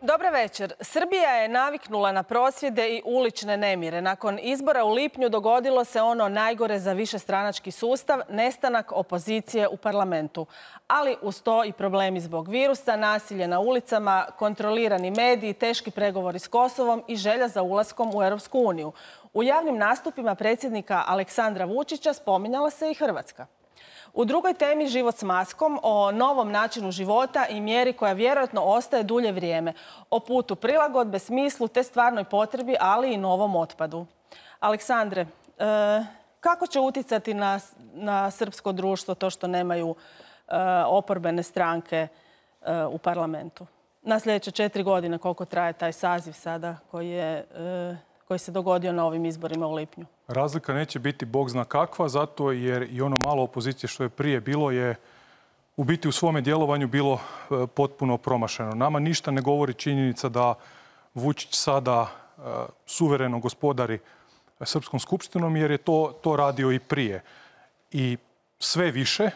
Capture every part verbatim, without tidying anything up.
Dobar večer. Srbija je naviknula na prosvjede i ulične nemire. Nakon izbora u lipnju dogodilo se ono najgore za višestranački sustav, nestanak opozicije u parlamentu. Ali uz to i problemi zbog virusa, nasilje na ulicama, kontrolirani mediji, teški pregovori s Kosovom i želja za ulaskom u Europsku uniju. U javnim nastupima predsjednika Aleksandra Vučića spominjala se i Hrvatska. U drugoj temi život s maskom, o novom načinu života i mjeri koja vjerojatno ostaje dulje vrijeme, o putu prilagodbe, smislu te stvarnoj potrebi, ali i novom otpadu. Aleksandre, kako će utjecati na, na srpsko društvo to što nemaju oporbene stranke u parlamentu? Na sljedeće četiri godine koliko traje taj saziv sada koji je... koji se dogodio na ovim izborima u lipnju? Razlika neće biti bog zna kakva, zato jer i ono malo opozicije što je prije bilo je u biti u svome djelovanju bilo potpuno promašeno. Nama ništa ne govori činjenica da Vučić sada suvereno gospodari Srpskom skupštinom, jer je to, to radio i prije. I sve više,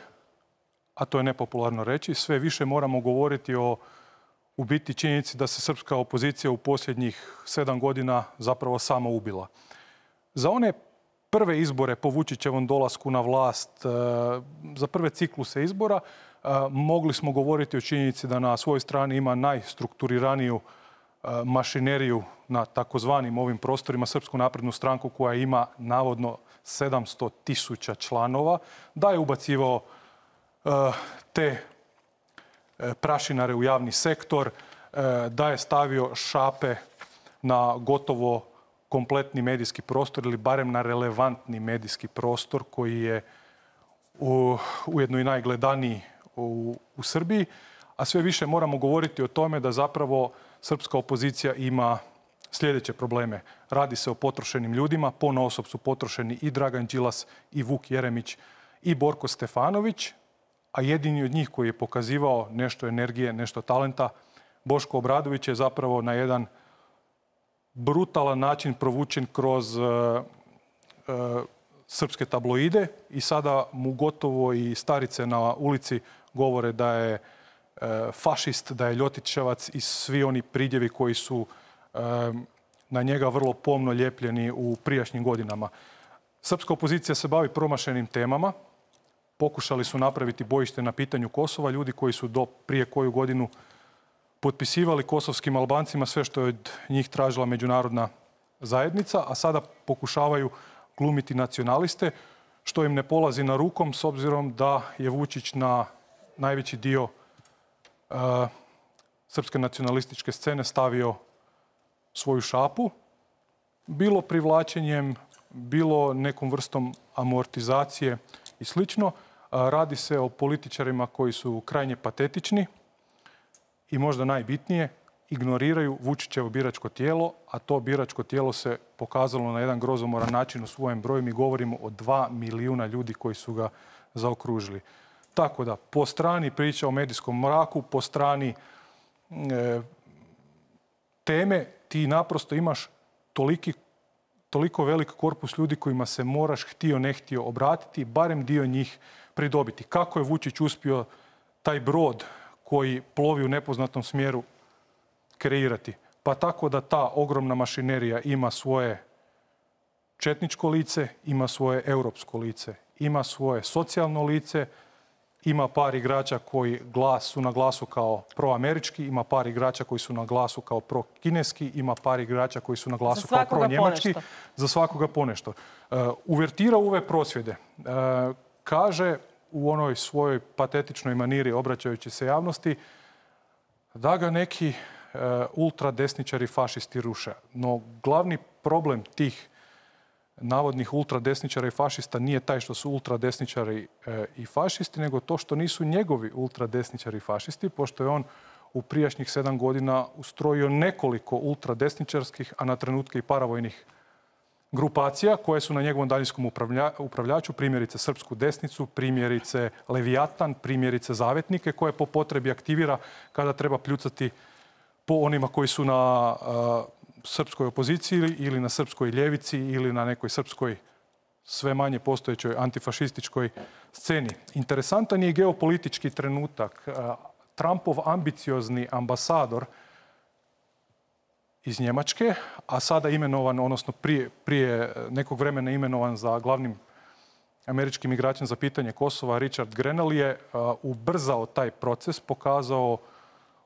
a to je nepopularno reći, sve više moramo govoriti o u biti činjenici da se srpska opozicija u posljednjih sedam godina zapravo samo ubila. Za one prve izbore po Vučićevom dolasku na vlast, za prve cikluse izbora, mogli smo govoriti o činjenici da na svojoj strani ima najstrukturiraniju mašineriju na takozvanim ovim prostorima, Srpsku naprednu stranku koja ima navodno sedamsto tisuća članova, da je ubacivao te prašinare u javni sektor, da je stavio šape na gotovo kompletni medijski prostor ili barem na relevantni medijski prostor koji je ujedno i najgledaniji u, u Srbiji. A sve više moramo govoriti o tome da zapravo srpska opozicija ima sljedeće probleme. Radi se o potrošenim ljudima, ponaosob su potrošeni i Dragan Đilas, i Vuk Jeremić, i Borko Stefanović, a jedini od njih koji je pokazivao nešto energije, nešto talenta, Boško Obradović je zapravo na jedan brutalan način provučen kroz uh, uh, srpske tabloide i sada mu gotovo i starice na ulici govore da je uh, fašist, da je ljotićevac i svi oni pridjevi koji su uh, na njega vrlo pomno lijepljeni u prijašnjim godinama. Srpska opozicija se bavi promašenim temama. Pokušali su napraviti bojište na pitanju Kosova. Ljudi koji su do prije koju godinu potpisivali kosovskim Albancima sve što je od njih tražila međunarodna zajednica, a sada pokušavaju glumiti nacionaliste, što im ne polazi na rukom s obzirom da je Vučić na najveći dio uh, srpske nacionalističke scene stavio svoju šapu, bilo privlačenjem, bilo nekom vrstom amortizacije i slično. Radi se o političarima koji su krajnje patetični i možda najbitnije, ignoriraju Vučićevo biračko tijelo, a to biračko tijelo se pokazalo na jedan grozomoran način u svojem broju. Mi govorimo o dva milijuna ljudi koji su ga zaokružili. Tako da, po strani priča o medijskom mraku, po strani e, teme, ti naprosto imaš toliki toliko velik korpus ljudi kojima se moraš htio ne htio obratiti, barem dio njih pridobiti. Kako je Vučić uspio taj brod koji plovi u nepoznatom smjeru kreirati? Pa tako da ta ogromna mašinerija ima svoje četničko lice, ima svoje europsko lice, ima svoje socijalno lice, ima par igrača koji glas, su na glasu kao proamerički, ima par igrača koji su na glasu kao prokineski, ima par igrača koji su na glasu kao pro-njemački. Za svakoga ponešto. Uh, uvertira u ove prosvjede. Uh, kaže u onoj svojoj patetičnoj maniri, obraćajući se javnosti, da ga neki uh, ultradesničari fašisti ruše. No glavni problem tih navodnih ultradesničara i fašista nije taj što su ultradesničari e, i fašisti, nego to što nisu njegovi ultradesničari i fašisti, pošto je on u prijašnjih sedam godina ustrojio nekoliko ultradesničarskih, a na trenutke i paravojnih grupacija koje su na njegovom daljinskom upravlja, upravljaču, primjerice Srpsku desnicu, primjerice Levijatan, primjerice Zavetnike, koje po potrebi aktivira kada treba pljucati po onima koji su na a, srpskoj opoziciji ili na srpskoj ljevici ili na nekoj srpskoj sve manje postojećoj antifašističkoj sceni. Interesantan je geopolitički trenutak. Trumpov ambiciozni ambasador iz Njemačke, a sada imenovan, odnosno prije, prije nekog vremena imenovan za glavnim američkim igračem za pitanje Kosova, Richard Grenell je ubrzao taj proces, pokazao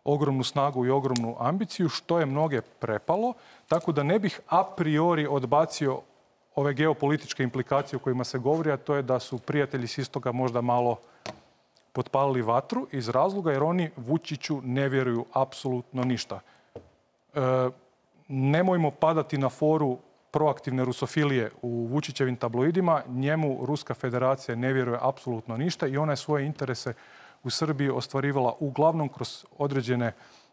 ogromnu snagu i ogromnu ambiciju, što je mnoge prepalo, tako da ne bih a priori odbacio ove geopolitičke implikacije o kojima se govori, a to je da su prijatelji s istoga možda malo potpalili vatru iz razloga jer oni Vučiću ne vjeruju apsolutno ništa. E, nemojmo padati na foru proaktivne rusofilije u Vučićevim tabloidima. Njemu Ruska federacija ne vjeruje apsolutno ništa i ona je svoje interese u Srbiji ostvarivala uglavnom kroz određene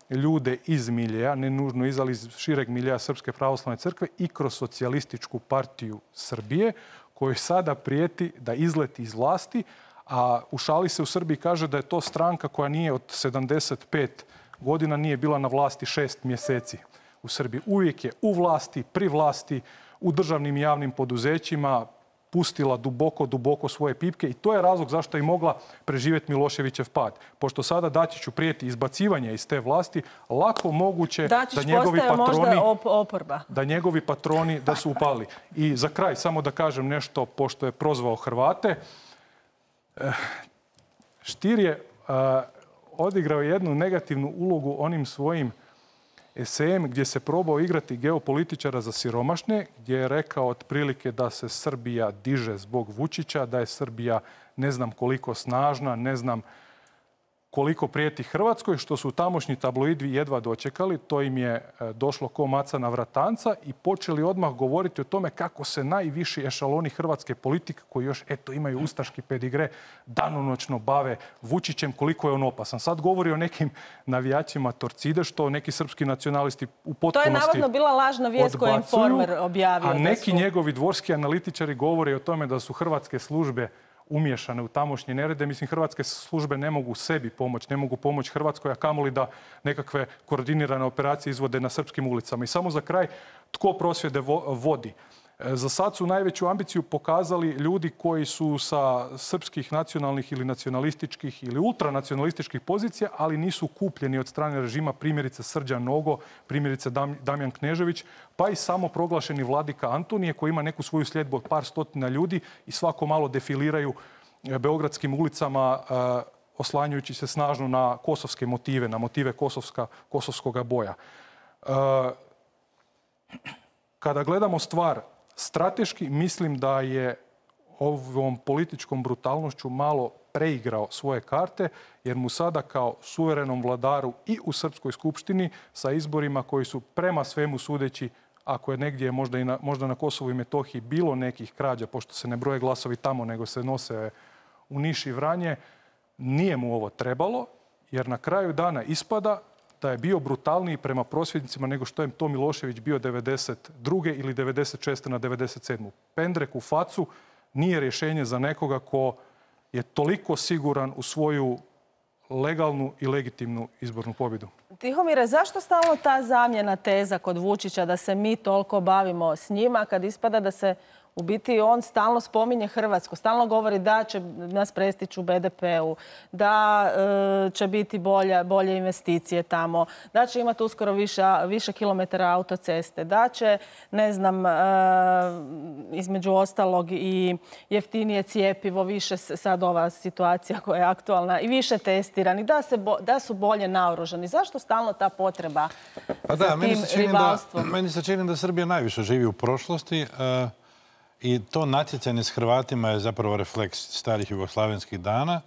ljude iz miljeja, ne nužno iz, ali iz šireg miljeja Srpske pravoslavne crkve i kroz socijalističku partiju Srbije, kojoj sada prijeti da izleti iz vlasti, a u šali se u Srbiji kaže da je to stranka koja nije od sedamdeset pet godina nije bila na vlasti šest mjeseci u Srbiji. Uvijek je u vlasti, pri vlasti, u državnim i javnim poduzećima, pustila duboko, duboko svoje pipke i to je razlog zašto je mogla preživjeti Miloševićev pad. Pošto sada Dačiću prijeti izbacivanje iz te vlasti, lako moguće Dačić da njegovi patroni, možda op- oporba. da njegovi patroni da su upali. I za kraj samo da kažem nešto, pošto je prozvao Hrvate. Stier je odigrao jednu negativnu ulogu onim svojim esejem gdje se probao igrati geopolitičara za siromašne, gdje je rekao otprilike da se Srbija diže zbog Vučića, da je Srbija ne znam koliko snažna, ne znam koliko prijeti Hrvatskoj, što su tamošnji tabloidi jedva dočekali. To im je došlo ko maca na vratanca i počeli odmah govoriti o tome kako se najviši ešaloni hrvatske politike, koji još eto imaju ustaški pedigre, danonoćno bave Vučićem, koliko je on opasan. Sad govori o nekim navijačima Torcide, što neki srpski nacionalisti u potpunosti odbacuju. To je navodno bila lažna vijest koju je Informer objavio. A neki su... njegovi dvorski analitičari govore o tome da su hrvatske službe umiješane u tamošnje nerede. Mislim, hrvatske službe ne mogu sebi pomoći, ne mogu pomoći Hrvatskoj, a kamoli da nekakve koordinirane operacije izvode na srpskim ulicama. I samo za kraj, tko prosvjede vodi? Za sad su najveću ambiciju pokazali ljudi koji su sa srpskih nacionalnih ili nacionalističkih ili ultranacionalističkih pozicija, ali nisu kupljeni od strane režima, primjerice Srđan Nogo, primjerice Damjan Knežević, pa i samo proglašeni vladika Antonije koji ima neku svoju sljedbu od par stotina ljudi i svako malo defiliraju beogradskim ulicama oslanjujući se snažno na kosovske motive, na motive kosovska, kosovskoga boja. Kada gledamo stvar strateški, mislim da je ovom političkom brutalnošću malo preigrao svoje karte, jer mu sada kao suverenom vladaru i u Srpskoj skupštini sa izborima koji su prema svemu sudeći, ako je negdje možda, i na, možda na Kosovu i Metohiji bilo nekih krađa, pošto se ne broje glasovi tamo, nego se nose u Niš i Vranje, nije mu ovo trebalo, jer na kraju dana ispada da je bio brutalniji prema prosvjednicima nego što je to Milošević bio devedeset druge ili devedeset šeste na devedeset sedmu. Pendrek u facu nije rješenje za nekoga ko je toliko siguran u svoju legalnu i legitimnu izbornu pobjedu. Tihomire, zašto stalno ta zamjena teza kod Vučića da se mi toliko bavimo s njima kad ispada da se u biti on stalno spominje Hrvatsku, stalno govori da će nas prestići u be de peu, da e, će biti bolje, bolje investicije tamo, da će imati uskoro više, više kilometara autoceste, da će, ne znam, e, između ostalog i jeftinije cijepivo, više sad ova situacija koja je aktualna i više testirani, da, se bo, da su bolje naoružani. Zašto stalno ta potreba pa da, za meni tim se čini rivalstvom? Da, meni se čini da Srbija najviše živi u prošlosti. E, I to natjecanje s Hrvatima je zapravo refleks starih jugoslavenskih dana,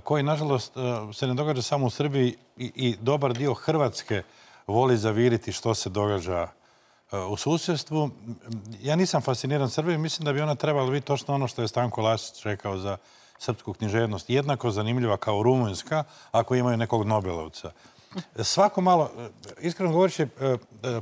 koji, nažalost, se ne događa samo u Srbiji i, i dobar dio Hrvatske voli zaviriti što se događa u susjedstvu. Ja nisam fasciniran Srbijom, mislim da bi ona trebala biti točno ono što je Stanko Lasić rekao za srpsku književnost, jednako zanimljiva kao Rumunjska ako imaju nekog Nobelovca. Svako malo, iskreno govoreći,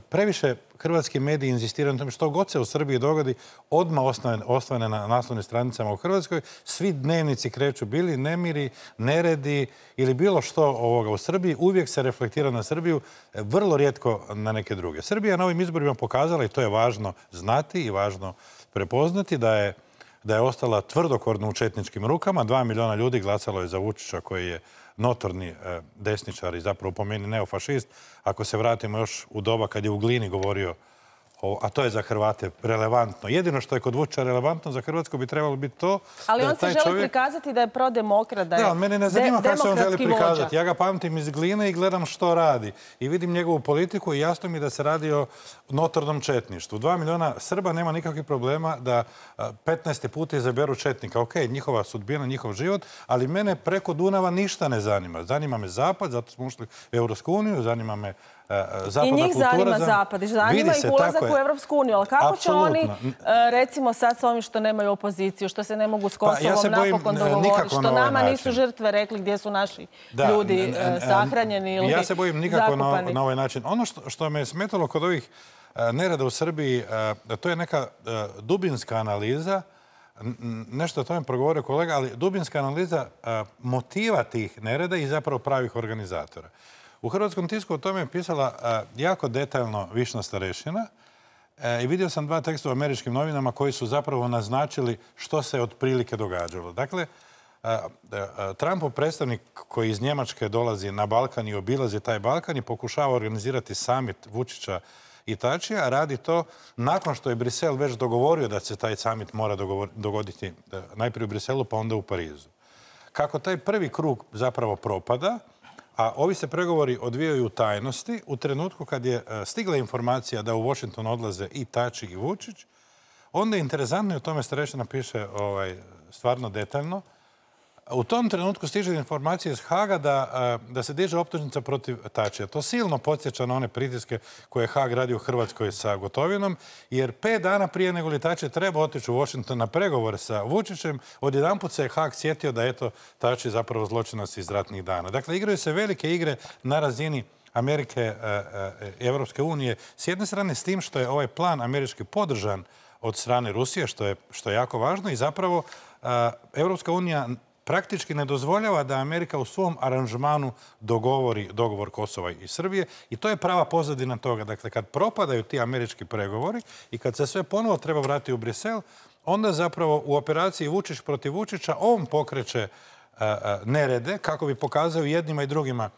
previše hrvatski mediji inzistiraju na tome što god se u Srbiji dogodi, odmah osvane na naslovnim stranicama u Hrvatskoj. Svi dnevnici kreću, bili nemiri, neredi ili bilo što ovoga u Srbiji, uvijek se reflektira na Srbiju, vrlo rijetko na neke druge. Srbija na ovim izborima pokazala, i to je važno znati i važno prepoznati, da je da je ostala tvrdokorno u četničkim rukama. Dva miliona ljudi glasalo je za Vučića koji je notorni desničar i zapravo po meni neofašist, ako se vratimo još u doba kad je u Glini govorio, a to je za Hrvate relevantno. Jedino što je kod Vučića relevantno za Hrvatsku bi trebalo biti to... Ali on se želi prikazati da je prodemokrat, da je Da, mene ne zanima kako se on želi prikazati. vođa. Ja ga pamtim iz Gline i gledam što radi. I vidim njegovu politiku i jasno mi da se radi o notornom četništvu. Dva miliona Srba nema nikakvih problema da petnaesti put izaberu četnika. Ok, njihova sudbina, njihov život, ali mene preko Dunava ništa ne zanima. Zanima me Zapad, zato smo ušli u Europsku uniju, zanima me I njih zanima Zapad, zanima ih ulazak u Europsku uniju, ali kako će oni, recimo sad s ovim što nemaju opoziciju, što se ne mogu s Kosovom napokon dogovoriti, što nama nisu žrtve rekli gdje su naši ljudi sahranjeni ili zakopani? Ja se bojim nikako na ovaj način. Ono što me je smetalo kod ovih nereda u Srbiji, to je neka dubinska analiza, nešto o tome progovorio kolega, ali dubinska analiza motiva tih nereda i zapravo pravih organizatora. U hrvatskom tisku o tome je pisala jako detaljno Višnja Starešina i vidio sam dva teksta u američkim novinama koji su zapravo naznačili što se otprilike događalo. Dakle, Trumpov predstavnik koji iz Njemačke dolazi na Balkan i obilazi taj Balkan i pokušava organizirati summit Vučića i Tačija, radi to nakon što je Brisel već dogovorio da se taj summit mora dogoditi najprije u Briselu pa onda u Parizu. Kako taj prvi krug zapravo propada, a ovi se pregovori odvijaju u tajnosti, u trenutku kad je stigla informacija da u Washington odlaze i Tači i Vučić, onda je interesantno i o tome Starešina piše stvarno detaljno. U tom trenutku stiže informacija iz Haga da se diže optužnica protiv Tačija. To silno podsjeća na one pritiske koje je Hag radio u Hrvatskoj sa Gotovinom, jer pet dana prije nego li Tači treba otići u Washington na pregovore sa Vučićem, odjedanput se je Hag sjetio da eto Tači zapravo zločinac iz ratnih dana. Dakle, igraju se velike igre na razini Amerike i Evropske unije. S jedne strane s tim što je ovaj plan američki podržan od strane Rusije, što je jako važno i zapravo Evropska unija praktički ne dozvoljava da Amerika u svom aranžmanu dogovori dogovor Kosova i Srbije i to je prava pozadina toga. Dakle, kad propadaju ti američki pregovori i kad se sve ponovo treba vratiti u Brisel, onda zapravo u operaciji Vučić protiv Vučića on pokreće nerede kako bi pokazao jednima i drugima.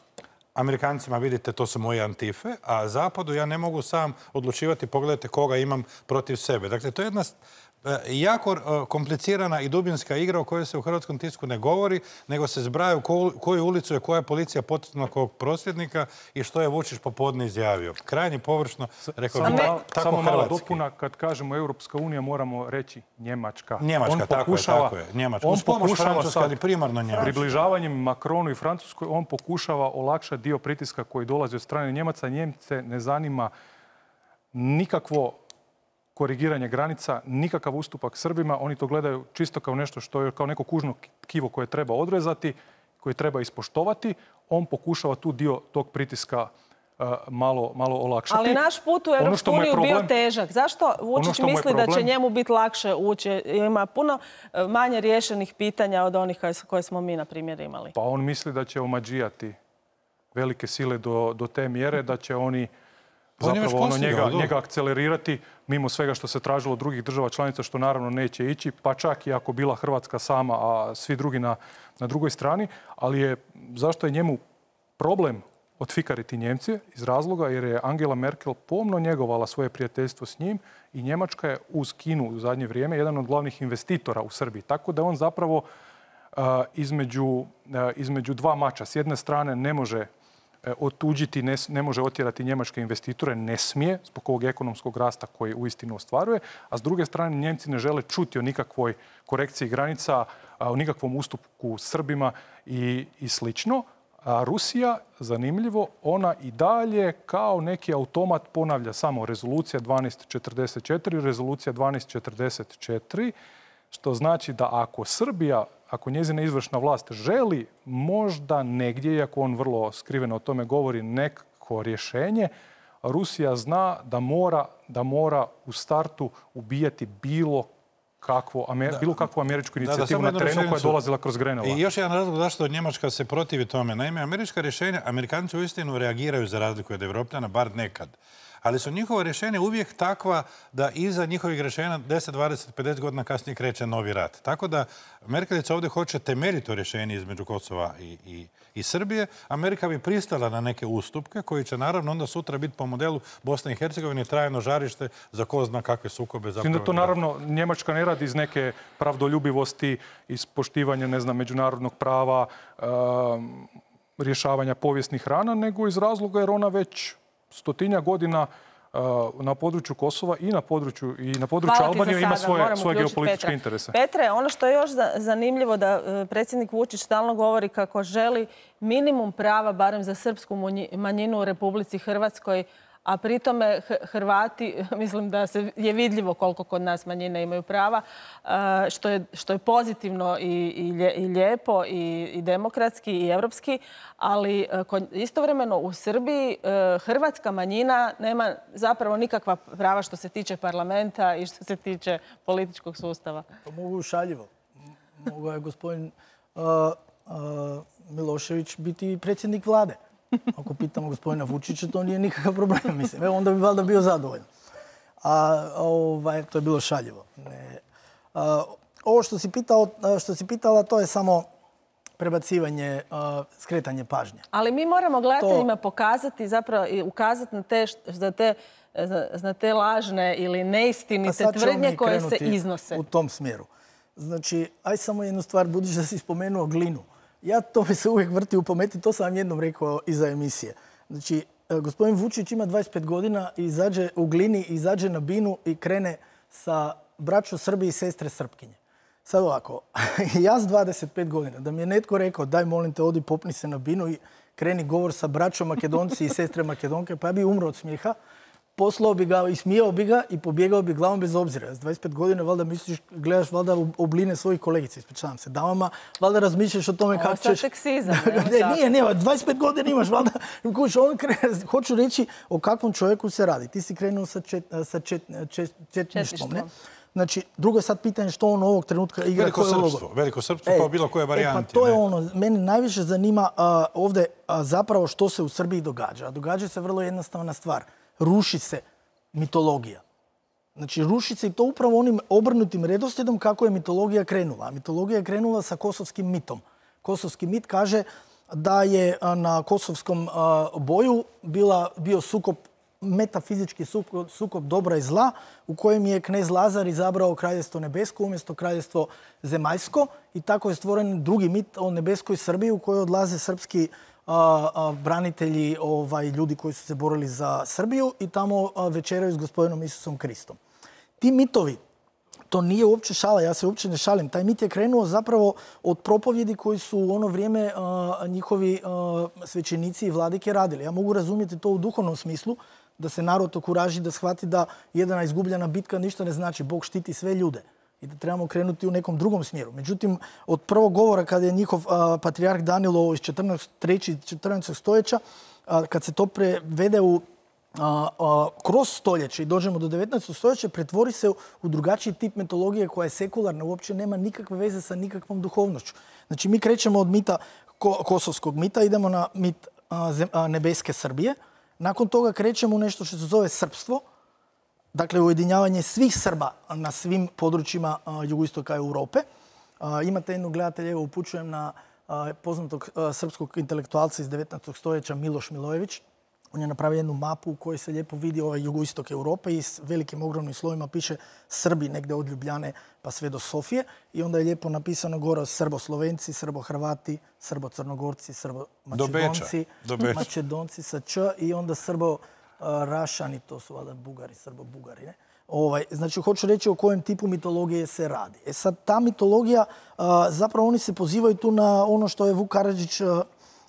Amerikancima, vidite, to su moje antife, a Zapadu ja ne mogu sam odlučivati, pogledajte koga imam protiv sebe. Dakle, to je jedna jako komplicirana i dubinska igra o kojoj se u hrvatskom tisku ne govori, nego se zbraju koju ulicu je koja policija potisnula kog prosvjednika i što je Vučić popodne izjavio. Krajnje površno, rekao bih tako Samo mala hrvatski. dopuna, kad kažemo Europska unija, moramo reći Njemačka. Njemačka, tako je, tako je. Njemačka. Uz pomoć Francuska, ali primarno Njemačka. Približavanjem Makronu i Francuskoj, on pokušava olakšati dio pritiska koji dolazi od strane Njemaca. Njemce ne zanima nikakvo korigiranje granica, nikakav ustupak Srbima. Oni to gledaju čisto kao nešto što je kao neko kužno kivo koje treba odrezati, koje treba ispoštovati. On pokušava tu dio tog pritiska uh, malo, malo olakšati. Ali naš put u Europsku uniju bio težak. Zašto Vučić misli da će njemu biti lakše ući? Ima puno manje riješenih pitanja od onih koje smo mi, na primjer, imali. Pa on misli da će omađijati velike sile do, do te mjere, da će oni zapravo ono njega, njega akcelerirati mimo svega što se tražilo od drugih država članica, što naravno neće ići, pa čak i ako bila Hrvatska sama, a svi drugi na, na drugoj strani. Ali je, zašto je njemu problem otfikariti Njemce? Iz razloga jer je Angela Merkel pomno njegovala svoje prijateljstvo s njim i Njemačka je uz Kinu u zadnje vrijeme jedan od glavnih investitora u Srbiji. Tako da on zapravo uh, između, uh, između dva mača. S jedne strane ne može otuđiti, ne, ne može otjerati njemačke investitore, ne smije, zbog ovog ekonomskog rasta koji uistinu ostvaruje, a s druge strane Njemci ne žele čuti o nikakvoj korekciji granica, o nikakvom ustupku Srbima i, i slično. A Rusija, zanimljivo, ona i dalje kao neki automat ponavlja samo rezolucija dvanaest četrdeset četiri, rezolucija dvanaest četrdeset četiri, što znači da ako Srbija, ako njezina izvršna vlast želi možda negdje, iako on vrlo skriveno o tome govori, neko rješenje, Rusija zna da mora, da mora u startu ubijati bilo kakvu, bilo kakvu američku inicijativu na terenu koja je dolazila kroz Grenova. I još jedan razlog zašto Njemačka se protivi tome. Naime, američka rješenja, Amerikanci uistinu reagiraju za razliku od Evropljana, bar nekad. Ali su njihova rješenja uvijek takva da iza njihovih rješenja deset, dvadeset, pedeset godina kasnije kreće novi rat. Tako da Merkelica ovdje hoće temeljito rješenje između Kosova i, i, i Srbije. Amerika bi pristala na neke ustupke koji će naravno onda sutra biti po modelu Bosne i Hercegovine trajno žarište za ko zna kakve sukobe zapravo. Da to naravno Njemačka ne radi iz neke pravdoljubivosti, iz poštivanja, ne znam, međunarodnog prava, um, rješavanja povijesnih rana, nego iz razloga jer ona već stotinja godina uh, na području Kosova i na području, i na području Albanije ima svoje, svoje geopolitičke Petra. interese. Petre, ono što je još zanimljivo da uh, predsjednik Vučić stalno govori kako želi minimum prava, barem za srpsku manjinu u Republici Hrvatskoj, a pri tome Hrvati, mislim da se je vidljivo koliko kod nas manjine imaju prava, što je, što je pozitivno i, i lijepo i, i demokratski i evropski, ali istovremeno u Srbiji hrvatska manjina nema zapravo nikakva prava što se tiče parlamenta i što se tiče političkog sustava. To mogu šaljivo. Mogu je gospodin uh, uh, Milošević biti predsjednik vlade. Ako pitamo gospodina Vučića, to nije nikakav problem, mislim. Evo, onda bi valjda bio zadovoljan. A ovaj, to je bilo šaljivo. Ne. A, ovo što si, pitao, što si pitala, to je samo prebacivanje, a, skretanje pažnje. Ali mi moramo gledateljima to... pokazati, zapravo i ukazati na te, za te, za te lažne ili neistinite tvrdnje koje se iznose. U tom smjeru. Znači, aj samo jednu stvar, budući da si spomenuo Glinu. Ja to mi se uvijek vrti u pameti, to sam vam jednom rekao iza emisije. Znači, gospodin Vučić ima dvadeset pet godina i izađe u Glini, izađe na binu i krene sa braćom Srbije i sestre Srpkinje. Sad ovako, ja s dvadeset pet godina, da mi je netko rekao daj molim te odi popni se na binu i kreni govor sa braćom Makedonci i sestre Makedonke, pa ja bi umro od smijeha. Poslao bi ga i smijao bi ga i pobjegao bi glavom bez obzira. S dvadeset pet godina valjda misliš, gledaš valjda obline svojih kolegica, ispričavam se, damama, valjda razmišljaš o tome kako ćeš... Ovo sad seksizam. Ne, nije, nije, dvadeset pet godina imaš valjda. Hoću reći o kakvom čovjeku se radi. Ti si krenuo sa, čet, sa čet, čet, četništvom, ne? Znači, drugo je sad pitanje što on ovog trenutka igra. Veliko srpstvo, veliko srpstvo, pa bilo koje varijanti. E, pa to je ono, mene najviše zanima uh, ovdje uh, zapravo što se u Srbiji događa. A događa se vrlo jednostavna stvar. Ruši se mitologija. Znači, ruši se i to upravo onim obrnutim redoslijedom kako je mitologija krenula. Mitologija je krenula sa kosovskim mitom. Kosovski mit kaže da je na kosovskom boju bila, bio sukob, metafizički sukob, sukob dobra i zla, u kojem je knez Lazar izabrao kraljevstvo nebesko umjesto kraljevstvo zemaljsko i tako je stvoren drugi mit o nebeskoj Srbiji u kojoj odlaze srpski A, a, branitelji, ovaj, ljudi koji su se borili za Srbiju i tamo a, večeraju s gospodinom Isusom Kristom. Ti mitovi, to nije uopće šala, ja se uopće ne šalim. Taj mit je krenuo zapravo od propovjedi koji su u ono vrijeme a, njihovi a, svećenici i vladike radili. Ja mogu razumjeti to u duhovnom smislu, da se narod okuraži, da shvati da jedna izgubljena bitka ništa ne znači. Bog štiti sve ljude. I da trebamo krenuti u nekom drugom smjeru. Međutim, od prvog govora kada je njihov a, patrijarh Danilo iz četrnaestog stoljeća, a, kad se to prevede u, a, a, kroz stoljeće i dođemo do devetnaestog stoljeća, pretvori se u, u drugačiji tip mitologije koja je sekularna, uopće nema nikakve veze sa nikakvom duhovnošću. Znači, mi krećemo od mita, ko, kosovskog mita, idemo na mit a, zem, a, nebeske Srbije. Nakon toga krećemo u nešto što se zove srpstvo, dakle, ujedinjavanje svih Srba na svim područjima a, jugoistoka Europe. A, imate jednu gledatelja, evo upućujem na a, poznatog a, srpskog intelektualca iz devetnaestog stoljeća Miloš Milojević. On je napravio jednu mapu u kojoj se lijepo vidi ovaj jugoistok Europe i s velikim ogromnim slovima piše Srbi negdje od Ljubljane pa sve do Sofije. I onda je lijepo napisano gore Srbo-Slovenci, Srbo-Hrvati, Srbo-Crnogorci, Srbo-Mačedonci, Mačedonci sa Č i onda Srbo Rašani, to su valjda Bugari, Srbo-Bugari. Ne? Ovaj, znači, hoću reći o kojem tipu mitologije se radi. E sad, ta mitologija, a, zapravo oni se pozivaju tu na ono što je Vuk Karadžić, a,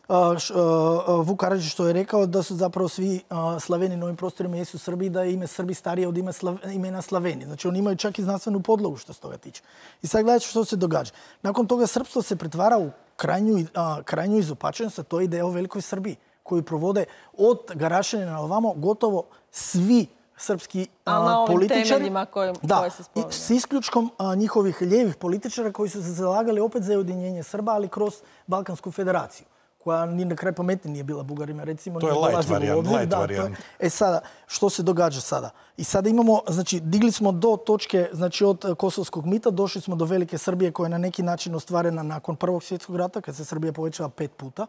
a, š, a, Vuk Karadžić što je rekao da su zapravo svi a, Slaveni na ovim prostorima jesu Srbi, da je ime Srbi starije od ime Slav, imena Slaveni. Znači, oni imaju čak i znanstvenu podlogu što se toga tiče. I sad gledajte što se događa. Nakon toga srpstvo se pretvara u krajnju, a, krajnju izopačenost, a to je ideja o velikoj Srbiji, koju provode od Garašanina na ovamo gotovo svi srpski a, političari. Koje, da, koje se spominje. S isključkom a, njihovih lijevih političara koji su se zalagali opet za ujedinjenje Srba, ali kroz Balkansku federaciju, koja ni na kraj pameti nije bila Bugarima, recimo. To je light varijant. Light varijant. E sada, što se događa sada? I sada imamo, znači, digli smo do točke, znači od kosovskog mita, došli smo do Velike Srbije koja je na neki način ostvarena nakon Prvog svjetskog rata, kad se Srbija povećala pet puta.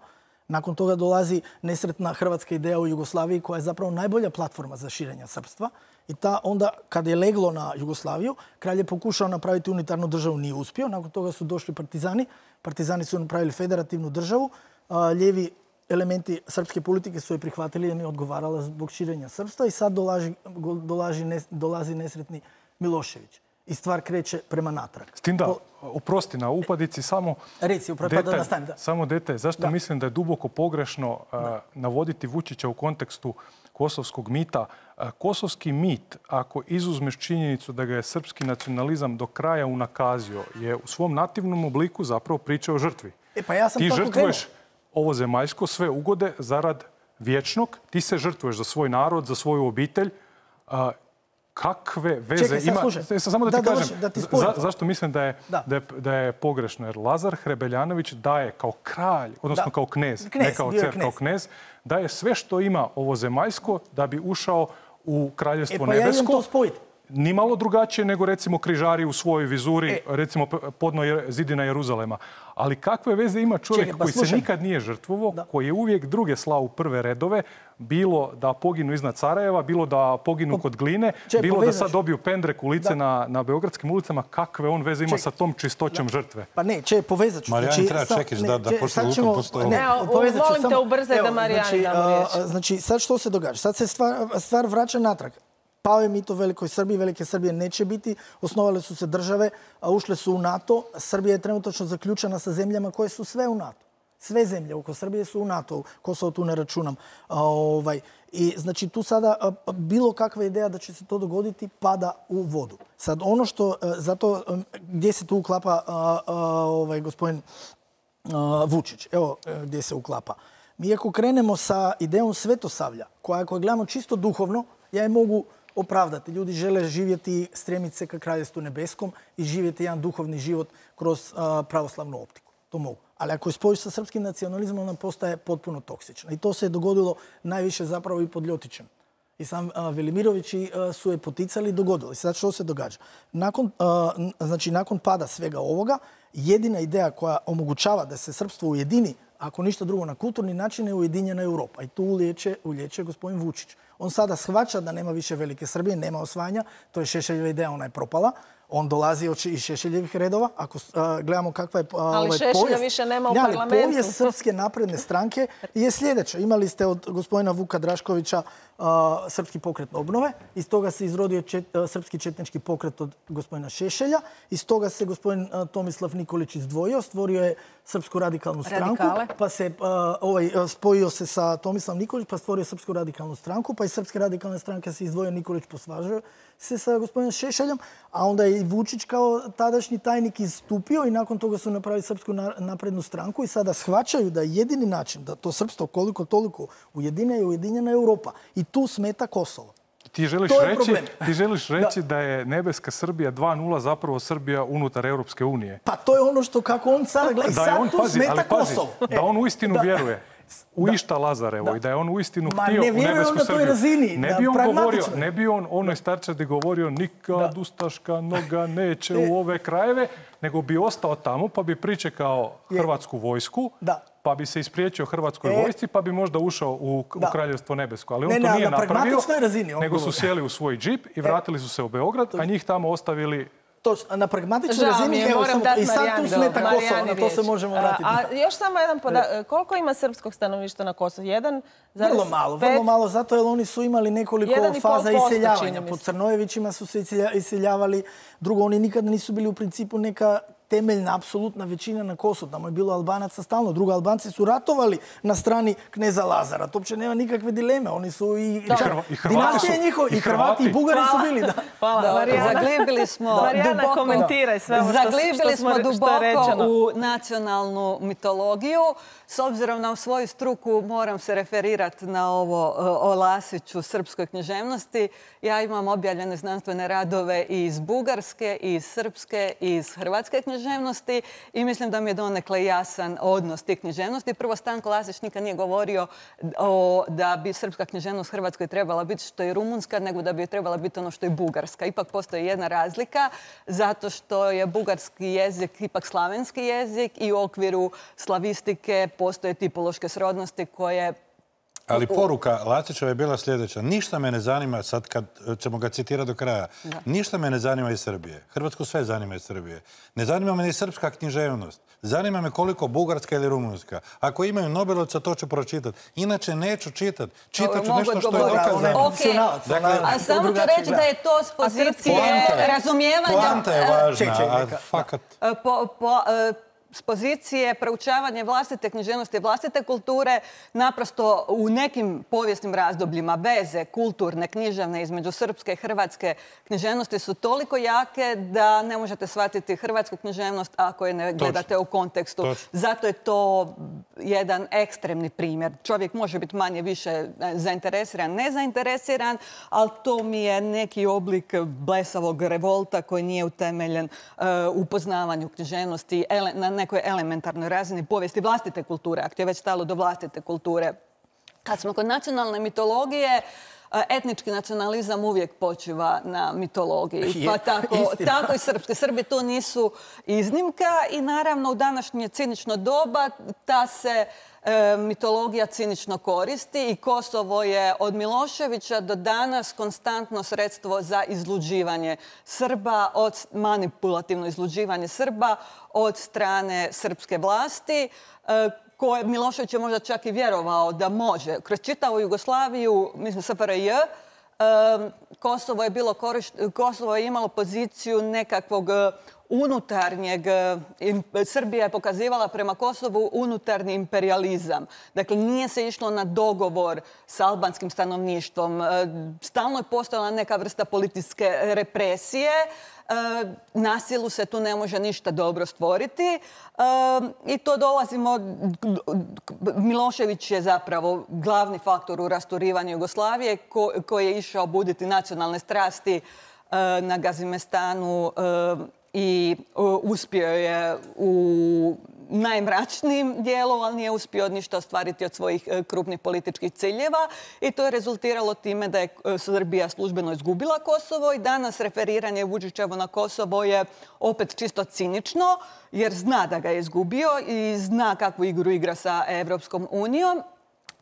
Nakon toga dolazi nesretna hrvatska ideja u Jugoslaviji koja je zapravo najbolja platforma za širenje srpstva. I ta onda, kad je leglo na Jugoslaviju, kralj je pokušao napraviti unitarnu državu, nije uspio. Nakon toga su došli partizani. Partizani su napravili federativnu državu. Lijevi elementi srpske politike su je prihvatili jer nije odgovarala zbog širenja srpstva. I sad dolazi, dolazi, dolazi nesretni Milošević. I stvar kreće prema natrag. S tim da, oprosti na upadici, samo Reci, upravo, detalj, da nastavim, da. samo detalj. Zašto da. mislim da je duboko pogrešno uh, navoditi Vučića u kontekstu kosovskog mita? Uh, kosovski mit, ako izuzmeš činjenicu da ga je srpski nacionalizam do kraja unakazio, je u svom nativnom obliku zapravo priča o žrtvi. E, pa ja sam ti tako žrtvuješ krenuo. ovo zemaljsko, sve ugode zarad vječnog. Ti se žrtvuješ za svoj narod, za svoju obitelj. Uh, Kakve veze Čekaj, ima... Slušaj. Samo da ti da, kažem, da ti za, zašto mislim da je, da. da, je, da je pogrešno. Jer Lazar Hrebeljanović daje kao kralj, odnosno da. kao knez, knez, ne kao car, knez. kao knez, daje sve što ima ovo zemaljsko da bi ušao u kraljevstvo e, pa nebesko. Ja idem to spojiti. Nimalo drugačije nego recimo križari u svojoj vizuri, e. recimo podno zidina Jeruzalema. Ali kakve veze ima čovjek Čekaj, pa koji slušam. se nikad nije žrtvovao, da. koji je uvijek druge slao u prve redove, bilo da poginu iznad Sarajeva, bilo da poginu po, kod Gline, Čekaj, bilo povezaš. da sad dobiju pendrek ulice na, na beogradskim ulicama. Kakve on veze ima Čekaj. sa tom čistoćom da. žrtve? Pa ne, če, povezat ću. Marijan, znači, treba čekiš da, da pošto lukom postoje. Ne, molim te ubrzaj da Marijani damo riječ. Znači, sad što se događa? Sad se stvar, stvar vraća natrag. Pao je mit o Velikoj Srbiji, Velike Srbije neće biti. Osnovale su se države, a ušle su u NATO. Srbija je trenutačno zaključena sa zemljama koje su sve u NATO. Sve zemlje oko Srbije su u NATO. Kosovo tu ne računam. A, ovaj, I znači tu sada a, bilo kakva ideja da će se to dogoditi pada u vodu. Sad ono što, a, zato a, gdje se tu uklapa a, a, ovaj, gospodin a, Vučić. Evo a, gdje se uklapa. Mi ako krenemo sa idejom Svetosavlja, koja ako gledamo čisto duhovno, ja je mogu opravdati. Ljudi žele živjeti, stremiti se ka kraljevstvu nebeskom i živjeti jedan duhovni život kroz uh, pravoslavnu optiku. To mogu. Ali ako je spojiš sa srpskim nacionalizmom, ona postaje potpuno toksična. I to se je dogodilo najviše zapravo i pod Ljotićem. I sam uh, Velimirovići uh, su je poticali i dogodilo. I sad što se događa? Nakon, uh, znači, nakon pada svega ovoga, jedina ideja koja omogućava da se srpstvo ujedini, ako ništa drugo na kulturni način, je ujedinjena Europa. I tu ulječe, ulječe gospodin Vučić. On sada shvaća da nema više Velike Srbije, nema osvajanja. To je Šešeljeva ideja, ona je propala. On dolazi iz Šešeljevih redova. Ako uh, gledamo kakva je uh, Ali ovaj, Šešelja povijest, više nema u ne, parlamentu. Povijest Srpske napredne stranke je sljedeća. Imali ste od gospodina Vuka Draškovića uh, Srpski pokret obnove. Iz toga se izrodio čet, uh, Srpski četnički pokret od gospodina Šešelja. Iz toga se gospodin uh, Tomislav Nikolić izdvojio. Stvorio je Srpsku radikalnu stranku. Radikale. Pa se uh, ovaj, uh, spojio se sa Tomislavom Nikolić, pa stvorio Srpsku radikalnu stranku. Pa iz Srpske radikalne stranke se izdvojio Nikolić, posvažio se sa gospodinom Šešeljom. A onda je i Vučić kao tadašnji tajnik istupio i nakon toga su napravili Srpsku naprednu stranku i sada shvaćaju da je jedini način da to srpstvo koliko toliko ujedine je ujedinjena Europa. I tu smeta Kosovo. Ti želiš, reći, ti želiš reći da. da je nebeska Srbija dva nula zapravo Srbija unutar Europske unije. Pa to je ono što kako on sada gleda. Da sad on, tu pazi, smeta ali pazi, Kosovo. Da on uistinu da. vjeruje u da. išta Lazarevo da. i da je on uistinu Ma, htio ne u nebesku na Srbiju. Razini, ne, bi on govorio, ne bi on onoj starčadi govorio nikad da. ustaška noga neće e. u ove krajeve, nego bi ostao tamo pa bi pričekao je. Hrvatsku vojsku, da. pa bi se ispriječio Hrvatskoj e. vojsci, pa bi možda ušao u, u Kraljevstvo nebesko. Ali on ne, to ne, nije na napravio, razini, nego su sjeli u svoj džip i vratili su se u Beograd, a njih tamo ostavili... To, na pragmatičnoj razini, evo sam, i sad tu smeta Kosovo, na to se možemo vratiti. A, a još samo jedan podatak, koliko ima srpskog stanovništva na Kosovu? Jedan? Vrlo malo, vrlo malo, zato jer oni su imali nekoliko faza iseljavanja. Po Crnojevićima su se iseljavali, drugo, oni nikada nisu bili u principu neka temeljna, apsolutna većina na Kosovu. Tamo je bilo Albanaca stalno. Drugo, Albanci su ratovali na strani kneza Lazara. To uopće nema nikakve dileme. Oni su i... I, Hrva, i Hrvati su. Njihovo, I Hrvati i Bugari su bili. Da. Hvala, da, Marijana. Zaglibili smo Marijana, duboko, komentiraj sve ovo što, zaglibili što smo, smo duboko što u nacionalnu mitologiju. S obzirom na svoju struku moram se referirati na ovo o Lasiću, srpskoj književnosti. Ja imam objavljene znanstvene radove i iz Bugarske, i iz Srpske, i iz Hrvatske književnosti. književnosti i mislim da mi je donekle jasan odnos tih književnosti. Prvo, Stanko Lasić nikad nije govorio o, da bi srpska književnost Hrvatskoj trebala biti što je rumunska, nego da bi trebala biti ono što je bugarska. Ipak postoji jedna razlika, zato što je bugarski jezik ipak slavenski jezik i u okviru slavistike postoje tipološke srodnosti koje... Ali poruka Lasićeva je bila sljedeća. Ništa me ne zanima, sad kad ćemo ga citirati do kraja, ništa me ne zanima iz Srbije. Hrvatsku sve zanima iz Srbije. Ne zanima me ni srpska književnost. Zanima me koliko bugarska ili rumunska. Ako imaju Nobelovca, to ću pročitati. Inače neću čitati. Čitat ću nešto što je dokazano. A samo ću reći da je to s pozicije razumijevanja... Poanta je važna, a fakat... S pozicije proučavanja vlastite književnosti, vlastite kulture, naprosto u nekim povijesnim razdobljima veze kulturne, književne između srpske i hrvatske književnosti su toliko jake da ne možete shvatiti hrvatsku književnost ako je ne gledate u kontekstu. Točno. Zato je to jedan ekstremni primjer. Čovjek može biti manje više zainteresiran, nezainteresiran, ali to mi je neki oblik blesavog revolta koji nije utemeljen uh, u poznavanju književnosti na nekoj elementarnoj razini povijesti vlastite kulture, ako je već stalo do vlastite kulture. Kad smo kod nacionalne mitologije, etnički nacionalizam uvijek počiva na mitologiji. Pa tako, tako i srpski. Srbi tu nisu iznimka i naravno u današnje cinično doba ta se e, mitologija cinično koristi i Kosovo je od Miloševića do danas konstantno sredstvo za izluđivanje Srba, od manipulativno izluđivanje Srba od strane srpske vlasti, e, koje Milošević je možda čak i vjerovao da može. Kroz čitavu Jugoslaviju, mislim S F R J, Kosovo je bilo korišt... Kosovo je imalo poziciju nekakvog unutarnjeg... Srbija je pokazivala prema Kosovu unutarnji imperializam. Dakle, nije se išlo na dogovor s albanskim stanovništvom. Stalno je postojala neka vrsta političke represije. Na silu se tu ne može ništa dobro stvoriti i to dolazimo... Milošević je zapravo glavni faktor u rasturivanju Jugoslavije koji je išao buditi nacionalne strasti na Gazimestanu i uspio je u najmračnijim dijelu, ali nije uspio ništa ostvariti od svojih krupnih političkih ciljeva i to je rezultiralo time da je Srbija službeno izgubila Kosovo i danas referiranje Vučićevo na Kosovo je opet čisto cinično jer zna da ga je izgubio i zna kakvu igru igra sa Evropskom unijom.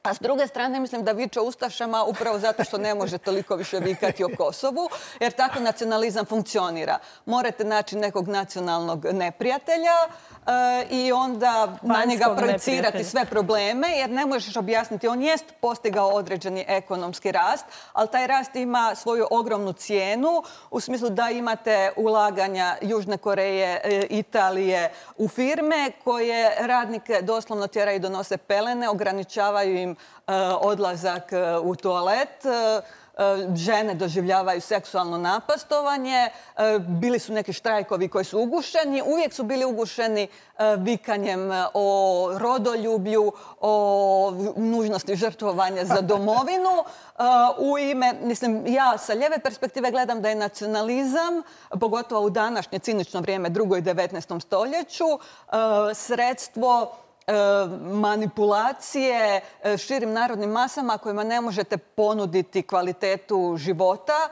A s druge strane, mislim da viče ustašama upravo zato što ne može toliko više vikati o Kosovu, jer tako nacionalizam funkcionira. Morate naći nekog nacionalnog neprijatelja e, i onda na njega projicirati sve probleme, jer ne možeš objasniti. On jest postigao određeni ekonomski rast, ali taj rast ima svoju ogromnu cijenu u smislu da imate ulaganja Južne Koreje, e, Italije u firme koje radnike doslovno tjeraju i donose pelene, ograničavaju im odlazak u toalet, žene doživljavaju seksualno napastovanje, bili su neki štrajkovi koji su ugušeni, uvijek su bili ugušeni vikanjem o rodoljublju, o nužnosti žrtvovanja za domovinu. U ime, mislim, ja sa lijeve perspektive gledam da je nacionalizam, pogotovo u današnje cinično vrijeme, drugo i devetnaestom stoljeću, sredstvo manipulacije širim narodnim masama kojima ne možete ponuditi kvalitetu života,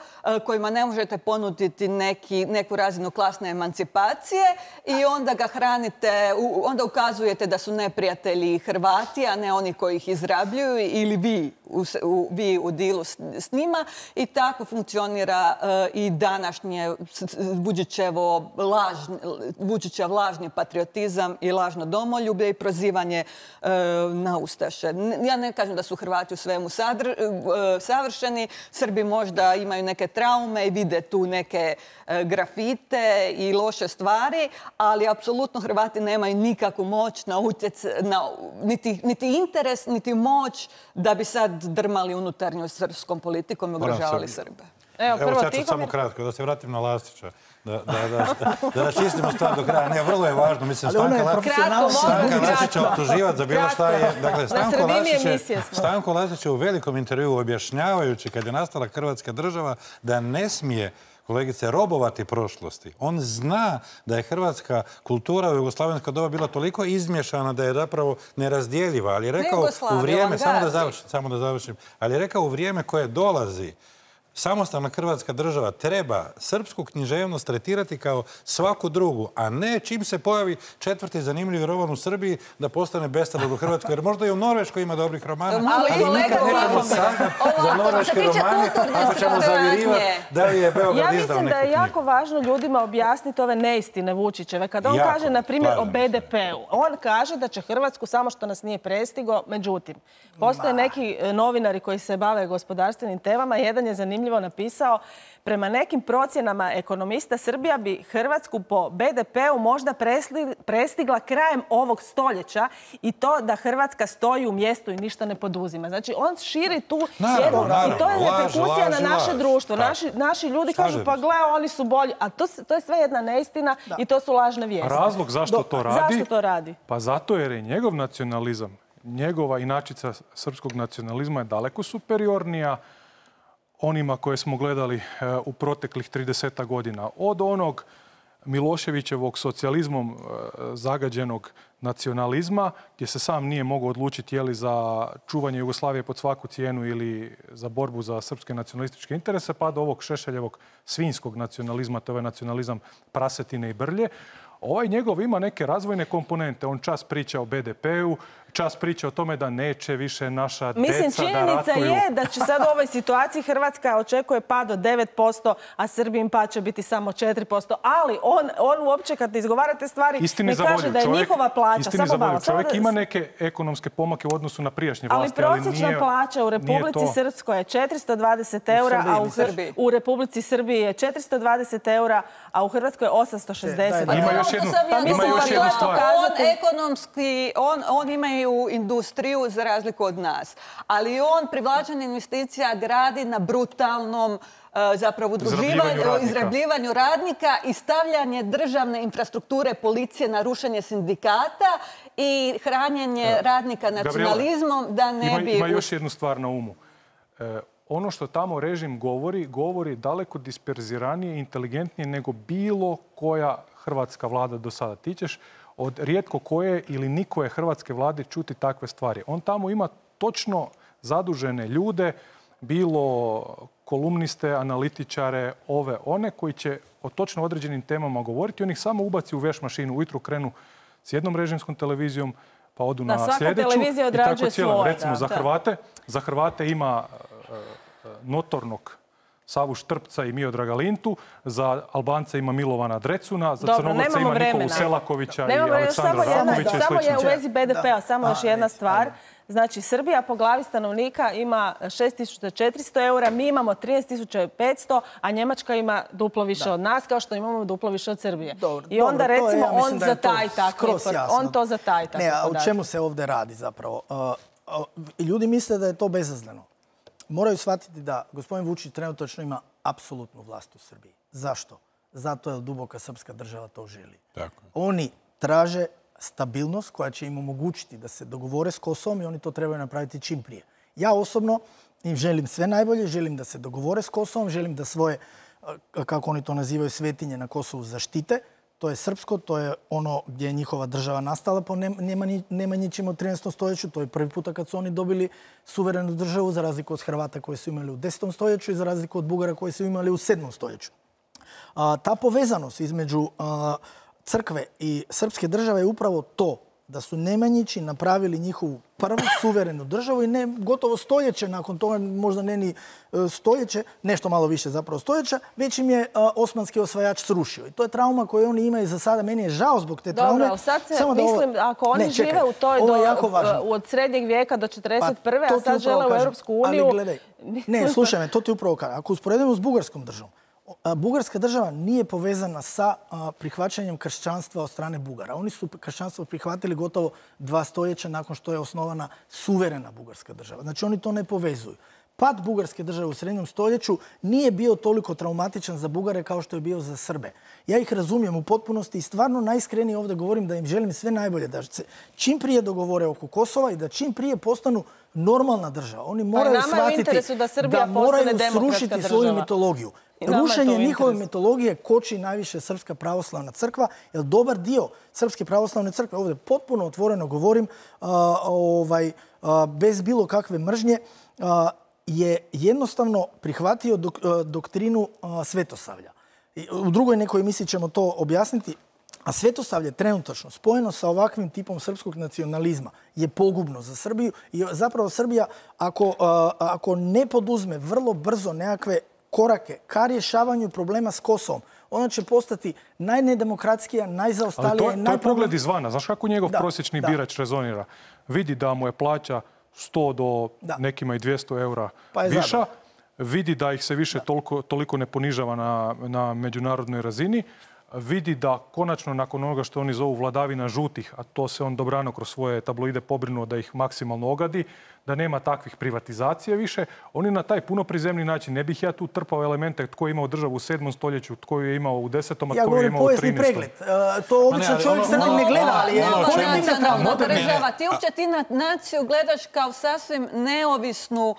kojima ne možete ponuditi neki, neku razinu klasne emancipacije i onda ga hranite, onda ukazujete da su neprijatelji Hrvati, a ne oni koji ih izrabljuju ili vi u, u, vi u dilu s, s njima i tako funkcionira uh, i današnje Vučićevo lažni, Vučićev lažni patriotizam i lažno domoljublje i prozivanje uh, na ustaše. Ja ne kažem da su Hrvati u svemu sadr, uh, savršeni. Srbi možda imaju neke traume i vide tu neke uh, grafite i loše stvari, ali apsolutno Hrvati nemaju nikakvu moć na utjec, na, niti, niti interes, niti moć da bi sad drmali unutarnjom srpskom politikom i ugrožavali Srbe. Evo, Evo sad ću samo kratko, da se vratim na Lasića. Da, da, da, da raščistimo stvar do kraja. Ne, vrlo je važno. Mislim, Stanka, La... Stanka Lasića optuživati za bilo šta je... Dakle, Stanko Lasić je, Stanko Lasić je u velikom intervjuu objašnjavajući kad je nastala Hrvatska država da ne smije kolegice, robovati prošlosti. On zna da je hrvatska kultura u jugoslavensko doba bila toliko izmješana da je zapravo nerazdjeljiva. Ali je rekao u vrijeme, samo da završim, samo da završim, ali je rekao u vrijeme koje dolazi, samostalna hrvatska država treba srpsku književnost tretirati kao svaku drugu, a ne čim se pojavi četvrti zanimljivi roman u Srbiji da postane bestalan u Hrvatskoj. Jer možda i u Norveškoj ima dobrih romana, ali nikad nećemo saznat za norveške romane ako ćemo zavirivati da li je Beograd izdao neku knjigu. Ja mislim da je jako važno ljudima objasniti ove neistine Vučićeve. Kada on kaže, na primjer, o be de peu, on kaže da će Hrvatsku samo što nas nije prestigo. Međutim, postoje neki novinari koji se bave gospodarstvenim temama. Jedan je zanimljivo napisao, prema nekim procjenama ekonomista, Srbija bi Hrvatsku po be de peu možda prestigla krajem ovog stoljeća i to da Hrvatska stoji u mjestu i ništa ne poduzima. Znači, on širi tu jednu... I to je reperkusija na naše društvo. Naši ljudi kažu, pa gle, oni su bolji. A to je sve jedna neistina i to su lažne vijesti. Razlog zašto to radi? Zašto to radi? Pa zato jer je njegov nacionalizam, njegova inačica srpskog nacionalizma je daleko superiornija onima koje smo gledali u proteklih trideset godina. Od onog Miloševićevog socijalizmom zagađenog nacionalizma, gdje se sam nije mogao odlučiti je li za čuvanje Jugoslavije pod svaku cijenu ili za borbu za srpske nacionalističke interese, pa do ovog Šešeljevog svinjskog nacionalizma, to je nacionalizam prasetine i brlje. Ovaj njegov ima neke razvojne komponente. On čas priča o be de peu, čas priča o tome da neće više naša deca da ratuju. Mislim, činjenica je da će sad u ovoj situaciji Hrvatska očekuje pad od devet posto, a Srbijin pad će biti samo četiri posto. Ali on uopće kad izgovara te stvari ne kaže da je njihova plaća. Istini zavoljiv. Čovjek ima neke ekonomske pomake u odnosu na prijašnje vlasti, ali prosječna plaća u Republici Srpskoj je četiristo dvadeset eura, a u Republici Srbiji je četiristo dvadeset eura, a u Hrvatskoj je osamsto šezdeset eura. Ima još jednu, ima još jednu stvar. On ekonomski, on ima u industriju za razliku od nas. Ali on privlačenje investicija gradi na brutalnom zapravo izrabljivanju radnika i stavljanje državne infrastrukture policije na rušenje sindikata i hranjenje radnika nacionalizmom da ne bi... Ima još jednu stvar na umu. Ono što tamo režim govori, govori daleko disperziranije i inteligentnije nego bilo koja hrvatska vlada do sada. Ti ćeš od rijetko koje ili nikoje hrvatske vlade čuti takve stvari. On tamo ima točno zadužene ljude, bilo kolumniste, analitičare, ove, one koji će o točno određenim temama govoriti. On ih samo ubaci u veš mašinu. Ujutru krenu s jednom režimskom televizijom, pa odu na sljedeću. Svaka televizija odrađuje svoje. Recimo, za Hrvate, za Hrvate ima notornog Savu Štrpca i Miodraga Lintu, za Albance ima Milovana Drecuna, za Crnogorca ima Nikolu Selakovića i Aleksandra Rakovića i slično. Samo je u vezi be de pea, samo još jedna stvar. Znači, Srbija po glavi stanovnika ima šest tisuća četiristo eura, mi imamo trinaest tisuća petsto, a Njemačka ima duplo više od nas, kao što imamo duplo više od Srbije. I onda, recimo, on zataji tako. On to zataji tako. Ne, a o čemu se ovdje radi zapravo? Ljudi misle da je to bezazleno. Moraju shvatiti da gospodin Vučić trenutačno ima apsolutnu vlast u Srbiji. Zašto? Zato jer duboka srpska država to želi. Oni traže stabilnost koja će im omogućiti da se dogovore s Kosovom i oni to trebaju napraviti čim prije. Ja osobno im želim sve najbolje, želim da se dogovore s Kosovom, želim da svoje, kako oni to nazivaju, svetinje na Kosovu zaštite. To je srpsko, to je ono gdje je njihova država nastala po Nemanjićem od trinaestom stoljeću. To je prvi puta kad su oni dobili suverenu državu, za razliku od Hrvata koje su imali u desetom stoljeću i za razliku od Bugara koje su imali u sedmom stoljeću. Ta povezanost između crkve i srpske države je upravo to da su Nemanjići napravili njihovu prvu suverenu državu i ne gotovo stoljeće nakon toga, možda ne ni stoljeće, nešto malo više zapravo stoljeća, već im je osmanski osvajač srušio. I to je trauma koju oni imaju za sada. Meni je žao zbog te traume. Dobro, ali sad se, mislim, ako oni žive u toj, od srednjeg vijeka do četrdeset prve, a sad žele u Europsku uniju... Ali gledaj, ne, slušaj me, to ti upravo kažem. Ako usporedimo s bugarskom državom, Bugarska država nije povezana sa prihvaćanjem kršćanstva od strane Bugara. Oni su kršćanstvo prihvatili gotovo dva stoljeća nakon što je osnovana suverena bugarska država. Znači oni to ne povezuju. pad bugarske države u srednjem stoljeću nije bio toliko traumatičan za Bugare kao što je bio za Srbe. Ja ih razumijem u potpunosti i stvarno najiskrenije ovdje govorim da im želim sve najbolje, da se čim prije dogovore oko Kosova i da čim prije postanu normalna država. Oni moraju shvatiti da moraju srušiti svoju mitologiju. Rušenje njihove mitologije koči najviše Srpska pravoslavna crkva, jer dobar dio Srpske pravoslavne crkve, ovdje potpuno otvoreno govorim, bez bilo kakve mržnje, je jednostavno prihvatio doktrinu svetosavlja. U drugoj nekoj emisiji ćemo to objasniti. A svetosavlje trenutačno spojeno sa ovakvim tipom srpskog nacionalizma je pogubno za Srbiju i zapravo Srbija ako, ako ne poduzme vrlo brzo nekakve korake ka rješavanju problema s Kosovom, ona će postati najnedemokratskija, najzaostalija. Ali to, to je pogled izvana. Znaš kako njegov da, prosječni da. birač rezonira? Vidi da mu je plaća sto do da. nekima i dvjesto eura pa viša. Zabrano. Vidi da ih se više toliko, toliko ne ponižava na, na međunarodnoj razini. Vidi da konačno nakon onoga što oni zovu vladavina žutih, a to se on dobrano kroz svoje tabloide pobrinuo da ih maksimalno ogadi, da nema takvih privatizacija više. Oni na taj puno prizemni način, ne bih ja tu trpao elemente tko je imao državu u sedmom stoljeću, tko je imao u desetom, a tko je imao u trinaestom. Ja govorim povijesni pregled. To obično čovjek crnim ne gleda, ali je nacionalna država. Ti uopće ti na naciju gledaš kao sasvim neovisnu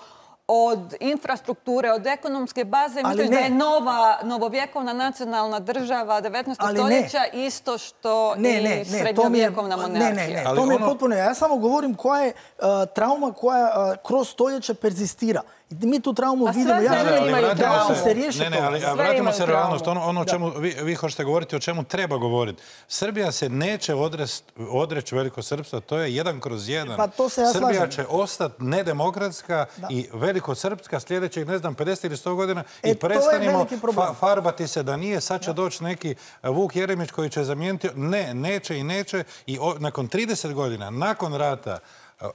od infrastrukture, od ekonomske baze, misliš da je nova, novovjekovna nacionalna država devetnaestog stoljeća isto što ne, i ne, srednjovjekovna monarhija. Ne, ne, ne, to mi je potpuno. Ja samo govorim koja je uh, trauma koja uh, kroz stoljeća perzistira. I mi tu traumu a vidimo. Ja ne, imaju traumu. Se riješi ne, ne, ali a vratimo se realnost. Ono, ono čemu vi, vi hoćete govoriti, o čemu treba govoriti. Srbija se neće odreći velikosrpstva. To je jedan kroz jedan. Pa to se ja Srbija slažem. će ostati nedemokratska da. i velikosrpska sljedećih, ne znam, pedeset ili sto godina e, i prestanimo fa farbati se da nije. Sad će doći neki Vuk Jeremić koji će zamijeniti. Ne, neće i neće. I o, nakon trideset godina, nakon rata,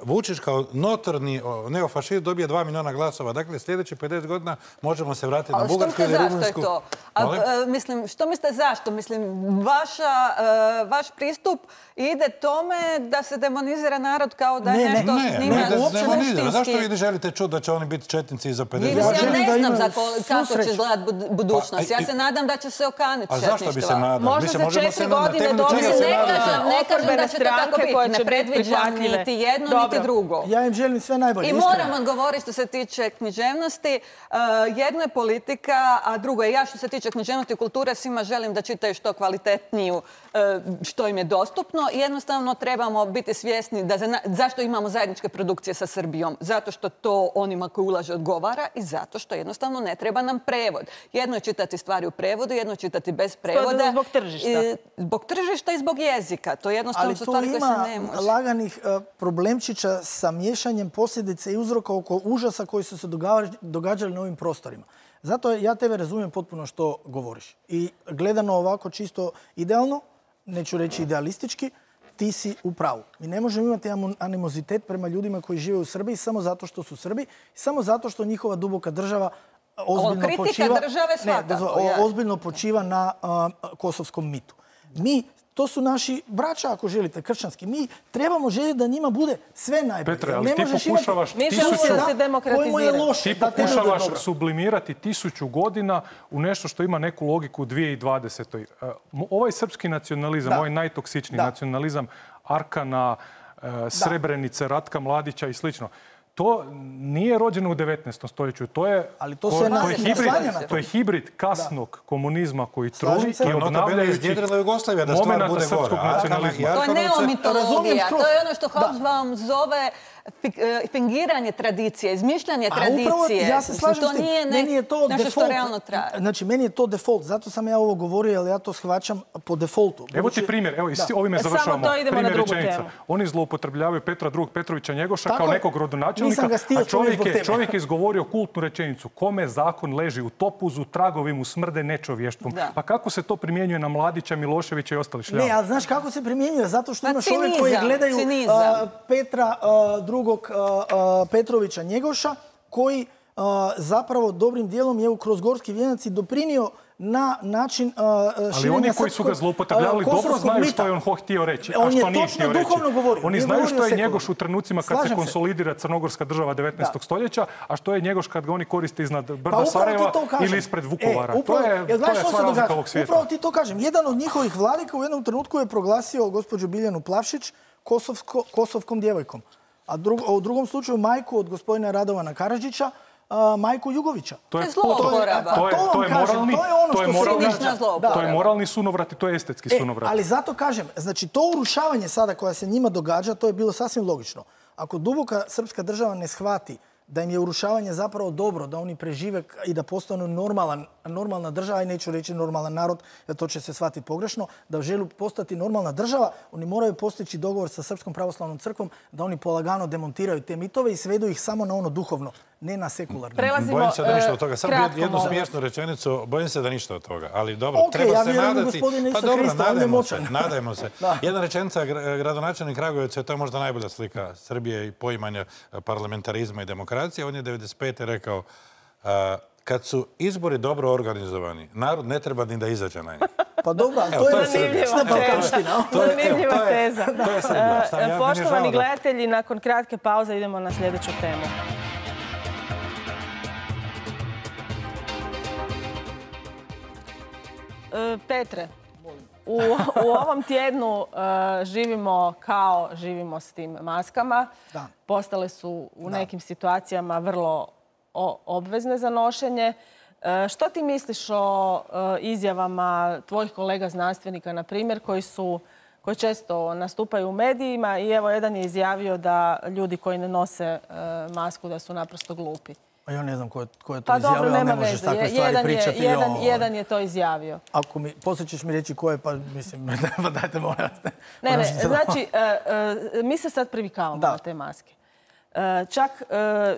Vučić kao notorni neofašist dobije dva miliona glasova. Dakle, sljedeći pedeset godina možemo se vratiti na Bugarsku ili Rumunjsku. Zašto je to? A, mislim, što mislite zašto? Mislim, vaša, uh, vaš pristup ide tome da se demonizira narod kao da je ne, nešto ne, s njima ne, ne, suštinski. Zašto vi želite čuti da će oni biti četnici za pedeset godina? Ja ne znam za kako će izgledati budućnost. Ja se nadam da će se okaniti četništva. A zašto bi se nadali? Možda se četiri godine dobije ne kažem da će to tako biti. Ne predviđam niti jedno, niti drugo. Ja im želim sve najbolje. I moram odgovoriti što se tiče književnosti. Jedno je politika, a drugo je ja što se tiče književnosti i kulture. Svima želim da čitaju što kvalitetniju, što im je dostupno. Jednostavno trebamo biti svjesni da za, zašto imamo zajedničke produkcije sa Srbijom. Zato što to onima koji ulaže odgovara i zato što jednostavno ne treba nam prevod. Jedno je čitati stvari u prevodu, jedno je čitati bez prevoda. Zbog tržišta. I, zbog tržišta i zbog jezika. To jednostavno su stvari koje se ne može. Ali tu ima laganih uh, problemčića sa miješanjem posljedice i uzroka oko užasa koji su se događali na ovim prostorima. Zato ja tebe razumijem potpuno što govoriš. I gledano ovako čisto idealno, neću reći idealistički, ti si u pravu. Mi ne možemo imati animozitet prema ljudima koji žive u Srbiji samo zato što su Srbi, samo zato što njihova duboka država ozbiljno počiva, ne, dozvo, ozbiljno počiva na uh, kosovskom mitu. Mi to su naši braća, ako želite, kršćanski. Mi trebamo željeti da njima bude sve najbolje. Petre, ali ti pokušavaš, ti pokušavaš sublimirati tisuću godina u nešto što ima neku logiku u dvije tisuće dvadesetoj. Ovaj srpski nacionalizam, da. ovaj najtoksičniji da. nacionalizam, Arkana, Srebrenice, Ratka Mladića i slično, to nije rođeno u devetnaestom stoljeću. To je, ali to, ko, se to, je hibrid, to je hibrid kasnog da. komunizma koji truli i obnavljajući momenta srpskog nacionalizma. To je neomitologija. To je ono što Hobsbawm zove fingiranje tradicije, izmišljanje tradicije. Upravo, ja se slažem to nije ne, meni je to nešto što realno traje. Znači, meni je to default. Zato sam ja ovo govorio, ali ja to shvaćam po defaultu. Evo ti primjer. Evo, da. ovime završavamo. Primjer rečenica. Oni zloupotrebljavaju Petra drugog Petrovića Njegoša tako kao nekog rodonačelnika, a čovjek je, čovjek je izgovorio kultnu rečenicu. Kome zakon leži u topuzu, tragovi mu smrde nečovještvom. Da. Pa kako se to primjenjuje na Mladića, Miloševića i ostali šljava? Ne, ali znaš kako se primjenjuje? Zato što ima čovjek koji gledaju uh, Petra uh, drugog uh, Petrovića Njegoša, koji uh, zapravo dobrim dijelom je kroz Gorski vijenac i doprinio na način uh, Ali širenja oni koji su ga srpskog, zloupotrebljavali uh, dobro znaju mita. što je on htio reći, a On je što nije točno htio reći. duhovno govorio. Oni Nije znaju govorio što je sekularno. Njegoš u trenucima kad Slažem se se. konsolidira crnogorska država devetnaestog stoljeća, a što je Njegoš kad ga oni koriste iznad brda upravo ti Sarajeva to kažem. ili ispred Vukovara. E, upravo, to je, jer to gledaš je što sva se razlika događa. ovog svijeta. Upravo ti to kažem. Jedan od njihovih vladika u jednom trenutku je proglasio gospođu Biljanu Plavšić kosovsko, kosovkom djevojkom. A drug, u drugom slučaju majku od gospodina Radovana Karadžića, a, majku Jugovića. To je, To je zlouporaba. to je, Pa to to vam je kažem, moralni, to je ono to je što se moralni, Cinična zlouporaba. to je moralni sunovrat i to je estetski E, sunovrat. ali zato kažem, znači to urušavanje sada koja se njima događa, to je bilo sasvim logično. Ako duboka srpska država ne shvati da im je urušavanje zapravo dobro, da oni prežive i da postanu normalan, normalna država, i neću reći normalan narod, jer to će se shvatiti pogrešno, da žele postati normalna država, oni moraju postići dogovor sa Srpskom pravoslavnom crkvom da oni polagano demontiraju te mitove i svedu ih samo na ono duhovno, ne na sekularno. Prelazimo Bojim se da ništa e, od toga. Samo kratko, jednu molim vas. smiješnu rečenicu, bojim se da ništa od toga. Ali dobro, Ok, treba ja se vjerujem u nadati. gospodina Pa Isusa dobro, Hrista, on je nadajmo se. moćan. Nadajmo se. Da. Jedna rečenica, gra- gradonačelnik Kragujevca, to je možda najbolja slika Srbije i poimanja parlamentarizma i demokracije. On je devedeset pete rekao, a, kad su izbori dobro organizovani, narod ne treba ni da izađe na njih. Pa dobro, ali Evo, to to je je Srbija. večna Evo, to je- balkanština. to je- evo, Zanimljiva to je- teza. To je Srbija. Šta, ja, meni je žao Poštovani da- gledatelji, nakon kratke pauze idemo na sljedeću temu. E, Petre, u, u ovom tjednu e, živimo kao živimo s tim maskama. Da. Postale su u nekim situacijama vrlo o- obvezne za nošenje. E, što ti misliš o e, izjavama tvojih kolega znanstvenika, na primjer, koji su koji često nastupaju u medijima i evo jedan je izjavio da ljudi koji ne nose e, masku da su naprosto glupi. A ja ne znam ko je, ko je to Pa izjavio, dobro, ali nema ne možeš veze. takve Je- stvari Jedan je, pričati. jedan, joj. jedan je to izjavio. Ako mi, poslije ćeš mi reći ko je, pa mislim, pa dajte molim vas. Ne, ne, Moram se- znači, e, e, mi se sad privikavamo Da. na te maske. E, čak e,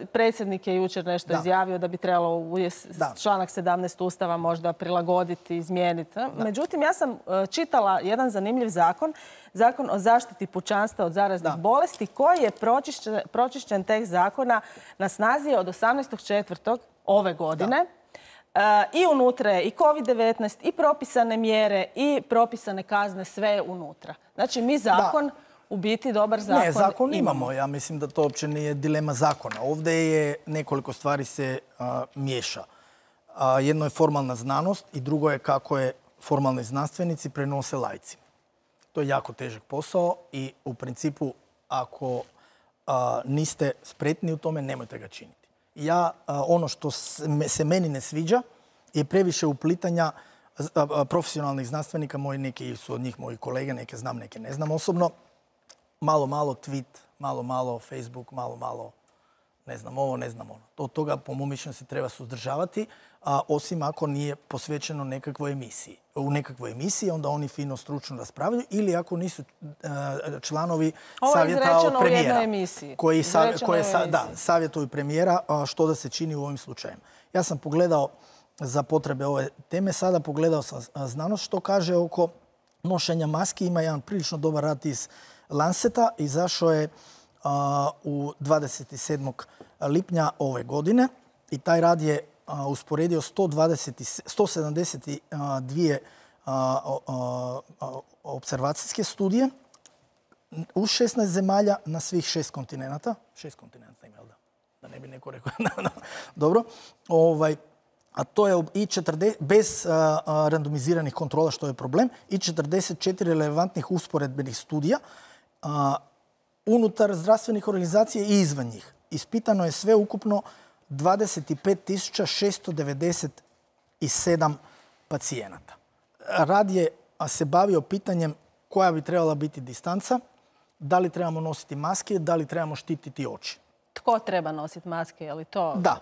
predsjednik je jučer nešto Da. izjavio da bi trebalo u jes- Da. članak sedamnaest Ustava možda prilagoditi, izmijeniti. Međutim, ja sam e, čitala jedan zanimljiv zakon, zakon o zaštiti pučanstva od zaraznih Da. bolesti, koji je pročišćen, pročišćen tekst zakona na snazi je od osamnaestog četvrtog ove godine. E, I unutra je i kovid devetnaest, i propisane mjere, i propisane kazne, sve je unutra. Znači, mi zakon, u biti dobar zakon, Ne, zakon imamo. Ja mislim da to uopće nije dilema zakona. Ovdje je nekoliko stvari se a, miješa. A, jedno je formalna znanost i drugo je kako je formalni znanstvenici prenose laici. To je jako težak posao i u principu ako a, niste spretni u tome, nemojte ga činiti. Ja, a, ono što se, me- se meni ne sviđa je previše uplitanja z- a, a, profesionalnih znanstvenika. Moji neki su od njih moji kolege, neke znam, neke ne znam osobno. Malo, malo tweet, malo, malo Facebook, malo, malo ne znam ovo, ne znam ono. Od toga, po mom mišljenju, se treba suzdržavati, a osim ako nije posvećeno nekakvoj emisiji. U nekakvoj emisiji onda oni fino stručno raspravljaju ili ako nisu e, članovi Ovo je savjeta izrečeno od u jednoj premijera. emisiji. Koji, sa- Izrečeno koje je u sa- da, emisiji. savjetuju premijera a, što da se čini u ovim slučajima. Ja sam pogledao za potrebe ove teme, sada pogledao sam a, znanost što kaže oko nošenja maski. Ima jedan prilično dobar rad iz Lanceta, izašao je a, u dvadeset sedmog lipnja ove godine i taj rad je a, usporedio sto dvadeset, sto sedamdeset dvije a, a, a, a, observacijske studije u šesnaest zemalja na svih šest kontinenata. Šest kontinenta ima, jel da? Da ne bi neko rekao. Dobro. Ovaj, a to je i četrdeset, bez a, a, randomiziranih kontrola, što je problem, i četrdeset četiri relevantnih usporedbenih studija a, unutar zdravstvenih organizacija i izvan njih. Ispitano je sve ukupno dvadeset pet tisuća šesto devedeset sedam pacijenata. Rad je a, se bavio pitanjem koja bi trebala biti distanca, da li trebamo nositi maske, da li trebamo štititi oči. Tko treba nositi maske? Je li to Da.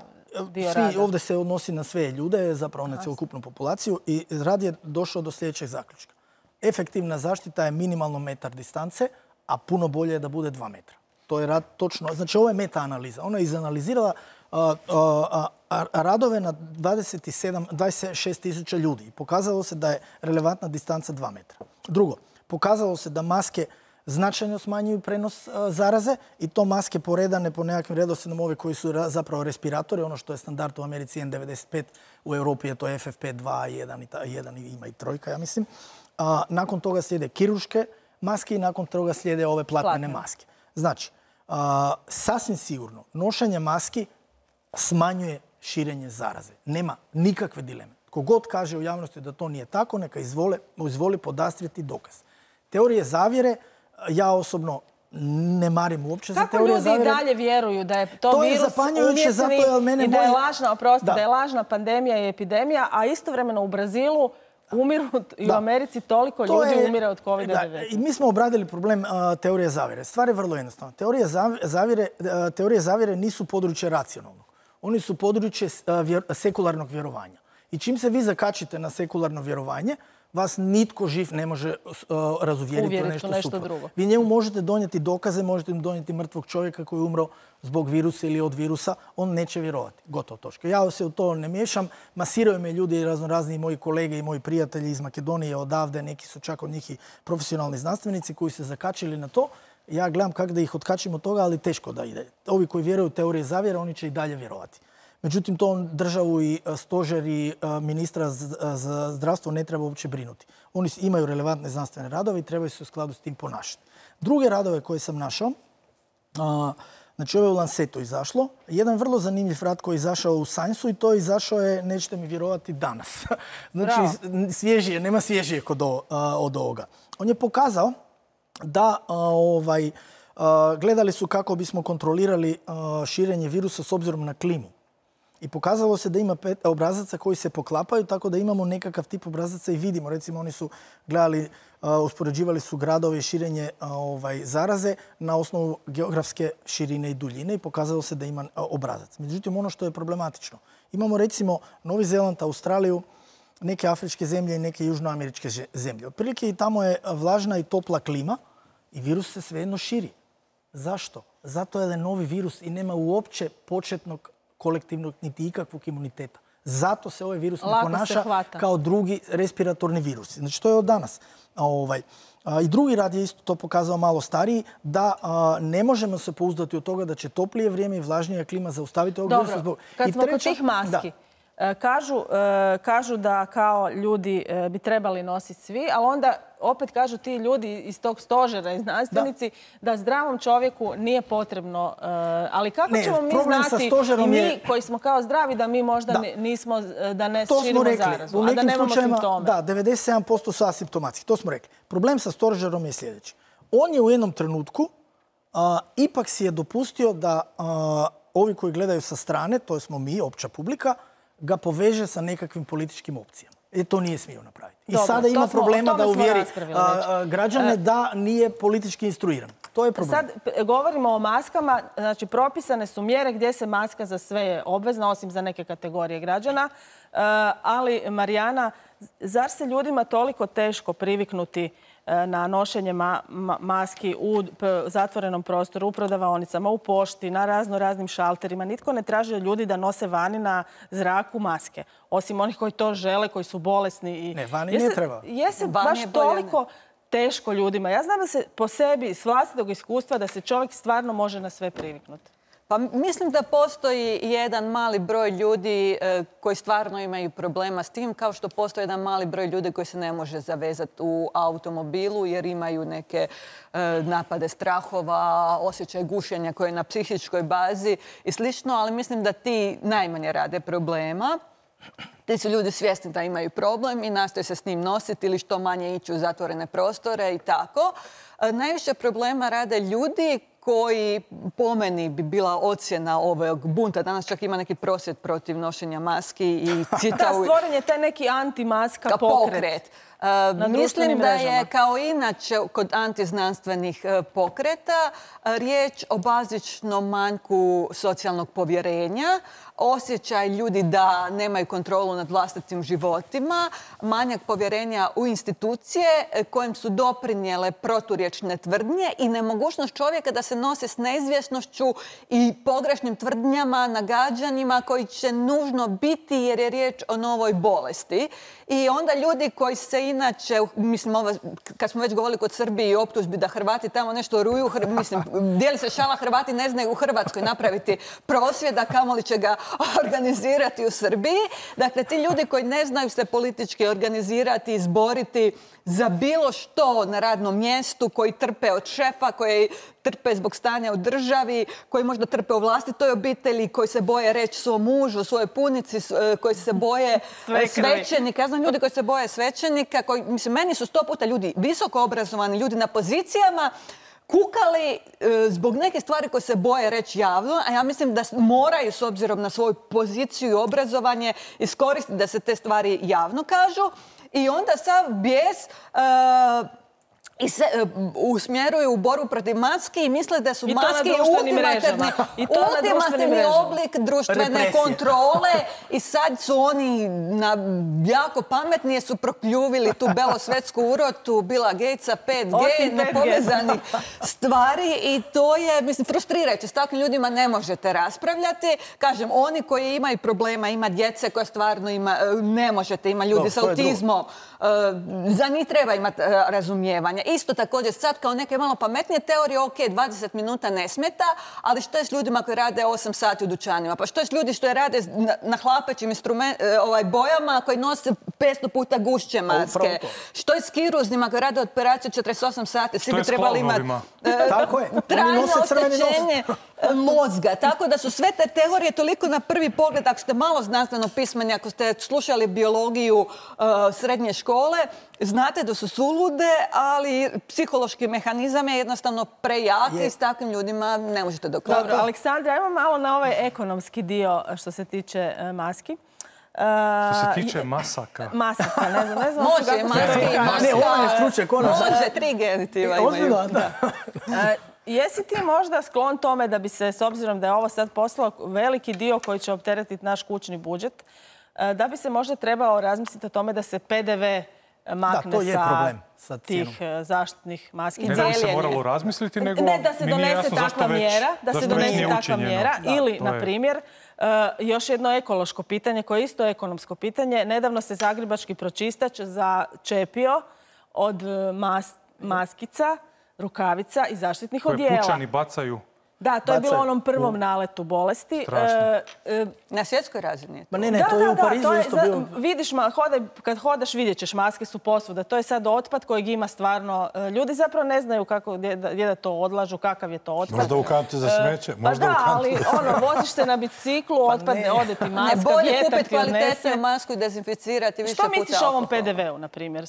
dio Svi, rada? ovdje se odnosi na sve ljude, zapravo na cjelokupnu populaciju i rad je došao do sljedećeg zaključka. Efektivna zaštita je minimalno metar distance, a puno bolje je da bude dva metra. To je rad točno, znači ovo je meta-analiza. Ona je izanalizirala a, a, a, a, radove na dvadeset sedam, dvadeset šest tisuća ljudi i pokazalo se da je relevantna distanca dva metra. Drugo, pokazalo se da maske značajno smanjuju prenos zaraze i to maske poredane po nekakvim redoslijedom, ove koji su zapravo respiratori, ono što je standard u Americi N devedeset pet, u Europi je to F F P dva, jedan i ima i trojka, ja mislim. Nakon toga slijede kirurške maske i nakon toga slijede ove platnene maske. Znači, sasvim sigurno, nošenje maski smanjuje širenje zaraze. Nema nikakve dileme. Kogod kaže u javnosti da to nije tako, neka izvoli podastrijeti dokaz. Teorije zavjere, ja osobno ne marim uopće za teorije zavjere. Kako ljudi i dalje vjeruju da je to virus umjetni i da je lažna, oprosti, da je lažna pandemija i epidemija, a istovremeno u Brazilu umiru i u Americi toliko ljudi umire od kovid devetnaest. Mi smo obradili problem teorije zavjere. Stvar je vrlo jednostavna. Teorije zavjere nisu područje racionalnog. Oni su područje sekularnog vjerovanja. I čim se vi zakačite na sekularno vjerovanje, vas nitko živ ne može razuvjeriti u nešto suprotno. Vi njemu možete donijeti dokaze, možete im donijeti mrtvog čovjeka koji je umro zbog virusa ili od virusa, on neće vjerovati. Gotovo točka. Ja se u to ne miješam. Masiraju me ljudi, raznorazni moji kolege i moji prijatelji iz Makedonije, odavde, neki su čak od njih i profesionalni znanstvenici koji se zakačili na to. Ja gledam kako da ih otkačim od toga, ali teško da ide. Ovi koji vjeruju u teorije zavjere, oni će i dalje vjerovati. Međutim, to državu i stožer i ministra za zdravstvo ne treba uopće brinuti. Oni imaju relevantne znanstvene radove i trebaju se u skladu s tim ponašati. Druge radove koje sam našao, znači ovo je u Lancetu izašlo, jedan vrlo zanimljiv rad koji je izašao u Science-u i to je izašao je, nećete mi vjerovati, danas. Znači, svježije, nema svježijeg od ovoga. On je pokazao da gledali su kako bismo kontrolirali širenje virusa s obzirom na klimu. I pokazalo se da ima pet obrazaca koji se poklapaju, tako da imamo nekakav tip obrazaca i vidimo. Recimo, oni su gledali, uspoređivali su gradove i širenje zaraze na osnovu geografske širine i duljine i pokazalo se da ima obrazac. Međutim, ono što je problematično, imamo recimo Novi Zeland, Australiju, neke afričke zemlje i neke južnoameričke zemlje. Otprilike i tamo je vlažna i topla klima i virus se svejedno širi. Zašto? Zato je novi virus i nema uopće početnog kolektivnog niti ikakvog imuniteta. Zato se ovaj virus ne ponaša kao drugi respiratorni virusi. Znači, to je od danas. I drugi rad je isto to pokazao malo stariji, da ne možemo se pouzdati od toga da će toplije vrijeme i vlažnija klima zaustaviti ovog virusa. Dobro, kad smo kod tih maski, kažu da kao ljudi bi trebali nositi svi, ali onda opet kažu ti ljudi iz tog stožera i znanstvenici da zdravom čovjeku nije potrebno. Ali kako ćemo mi znati i mi koji smo kao zdravi da mi možda nismo, da ne širimo zarazu, a da nemamo simptome? Da, devedeset sedam posto su asimptomatski, to smo rekli. Problem sa stožerom je sljedeći. On je u jednom trenutku ipak si je dopustio da ovi koji gledaju sa strane, to smo mi, opća publika, ga poveže sa nekakvim političkim opcijama. I to nije smio napraviti. I sada ima problema da uvjeri građane da nije politički instruiran. To je problem. Sad govorimo o maskama. Znači, propisane su mjere gdje se maska za sve je obvezna, osim za neke kategorije građana. Ali, Marijana, zar se ljudima toliko teško priviknuti na nošenje maski u zatvorenom prostoru, u prodavaonicama, u pošti, na razno raznim šalterima? Nitko ne traži od ljudi da nose vani na zraku maske. Osim onih koji to žele, koji su bolesni. Ne, vani ne treba. Je se baš toliko teško ljudima? Ja znam da se po sebi, s vlastitog iskustva, da se čovjek stvarno može na sve priviknuti. Pa mislim da postoji jedan mali broj ljudi koji stvarno imaju problema s tim, kao što postoji jedan mali broj ljudi koji se ne može zavezati u automobilu jer imaju neke napade strahova, osjećaj gušenja koje je na psihičkoj bazi i slično, ali mislim da ti najmanje rade problema. Ti su ljudi svjesni da imaju problem i nastoje se s njim nositi ili što manje ići u zatvorene prostore i tako. Najviše problema rade ljudi koji po meni bi bila ocjena ovog bunta. Danas čak ima neki prosvjed protiv nošenja maski i cita... Da, stvoren je taj neki antimaska pokret. Mislim da je kao inače kod antiznanstvenih pokreta riječ o bazičnom manjku socijalnog povjerenja, osjećaj ljudi da nemaju kontrolu nad vlastitim životima, manjak povjerenja u institucije kojem su doprinijele proturječne tvrdnje i nemogućnost čovjeka da se nosi s neizvjesnošću i pogrešnim tvrdnjama, nagađanjima koji će nužno biti jer je riječ o novoj bolesti. I onda ljudi koji se je inače, mislim, ovo, kad smo već govorili kod Srbije i optužbi da Hrvati tamo nešto ruju, mislim, dijeli se šala, Hrvati ne znaju u Hrvatskoj napraviti prosvjed, a kamoli će ga organizirati u Srbiji. Dakle, ti ljudi koji ne znaju se politički organizirati, izboriti za bilo što na radnom mjestu, koji trpe od šefa, koji trpe zbog stanja u državi, koji možda trpe u vlastitoj obitelji, koji se boje reći svom mužu, svojoj punici, koji se boje svećenika. Ja znam ljudi koji se boje svećenika, koji, mislim, meni su sto puta ljudi visoko obrazovani, ljudi na pozicijama, kukali e, zbog neke stvari koje se boje reći javno, a ja mislim da moraju, s obzirom na svoju poziciju i obrazovanje, iskoristiti da se te stvari javno kažu. I onda sav bijes uh, i se uh, usmjeruju u borbu protiv maski i misle da su maske ultimativni, ultimativni oblik društvene represije. Kontrole i sad su oni na, jako pametni jer su prokljuvili tu belosvetsku urotu Billa Gatesa, pet G, nepovezani stvari i to je, mislim, frustrirajuće. S takvim ljudima ne možete raspravljati. Kažem, oni koji imaju problema, ima djece koje stvarno ima, ne možete, ima ljudi s autizmom, za njih treba imati razumijevanje. Isto također sad kao neke malo pametnije teorije, ok, dvadeset minuta ne smeta, ali što je s ljudima koji rade osam sati u dućanima? Pa što je s ljudi što je rade na, na hlapećim ovaj, bojama koji nose petsto puta gušće maske? Što je s kiruznima koji rade operaciju četrdeset osam sati? Svi bi trebali imati trajno oštećenje mozga. Tako da su sve te teorije toliko na prvi pogled, ako ste malo znanstveno pismeni, ako ste slušali biologiju uh, srednje škole, znate da su sulude, ali psihološki mehanizam je jednostavno prejak i s takvim ljudima ne možete dokladati. Dobro, Aleksandra, ajmo malo na ovaj ekonomski dio što se tiče uh, maski. Uh, što se tiče masaka. Masaka, ne znam, ne znam. Može, maske, maska. Ne, ona je stručnjak. Može, tri genitiva imaju. Ozbiljno, da. Jesi ti možda sklon tome da bi se, s obzirom da je ovo sad poslao veliki dio koji će opteretiti naš kućni budžet, da bi se možda trebalo razmisliti o tome da se P D V makne da, to je sa, problem, sa tih zaštitnih maski? Ne da bi se moralo razmisliti, nego ne, da se donese takva mjera, da se donese takva mjera. Ili, na primjer, Uh, još jedno ekološko pitanje koje je isto ekonomsko pitanje. Nedavno se zagrebački pročistač začepio od mas, maskica, rukavica i zaštitnih odijela. Koje pučani bacaju. Da, to je bilo u onom prvom naletu bolesti. Strašno. E, e, Na svjetskoj razini. Ma ne, ne, da, to je da, u Parizu da, isto je, bilo. Vidiš, ma, hodaj, kad hodaš vidjet ćeš, maske su posvuda. To je sad otpad kojeg ima stvarno. Ljudi zapravo ne znaju kako, gdje, gdje da to odlažu, kakav je to otpad. Možda u kanti za smeće. Pa da, ali ono, voziš se na biciklu, otpad, pa ode ti maska, ne, bolje vjetar kupiti ti odnese. kvalitetnu masku i dezinficirati više puta. Što misliš o ovom P D V-u, na primjer?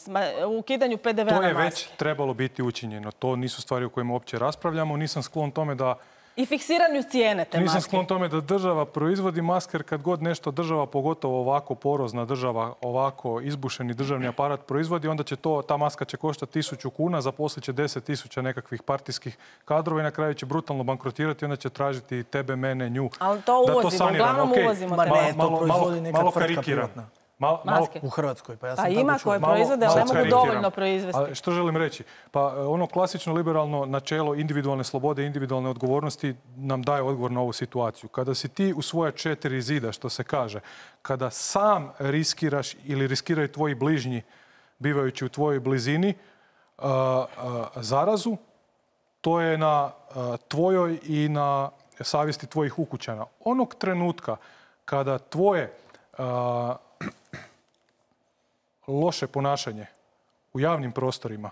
U ukidanju P D V-a na maske? To je već trebalo biti učinjeno. To nisu stvari o kojima uopće raspravljamo. Nisam sklon tome da i fiksiranju cijene te maske. Nisam sklon tome da država proizvodi maske, jer kad god nešto država, pogotovo ovako porozna država, ovako izbušeni državni aparat proizvodi, onda će to, ta maska će koštati tisuću kuna, zaposlit će deset tisuća nekakvih partijskih kadrova i na kraju će brutalno bankrotirati, onda će tražiti tebe, mene, nju. Ali to uvozimo, uglavnom uvozimo. Ma ne, to proizvodi neka tvrtka privatna. Mal, malo, u Hrvatskoj, pa ja sam pa tako ima čuo. koje proizvode, ali ne mogu dovoljno proizvesti. A što želim reći? Pa ono klasično liberalno načelo individualne slobode i individualne odgovornosti nam daje odgovor na ovu situaciju. Kada si ti u svoja četiri zida, što se kaže, kada sam riskiraš ili riskiraju tvoji bližnji bivajući u tvojoj blizini uh, uh, zarazu, to je na uh, tvojoj i na savjesti tvojih ukućana. Onog trenutka kada tvoje uh, loše ponašanje u javnim prostorima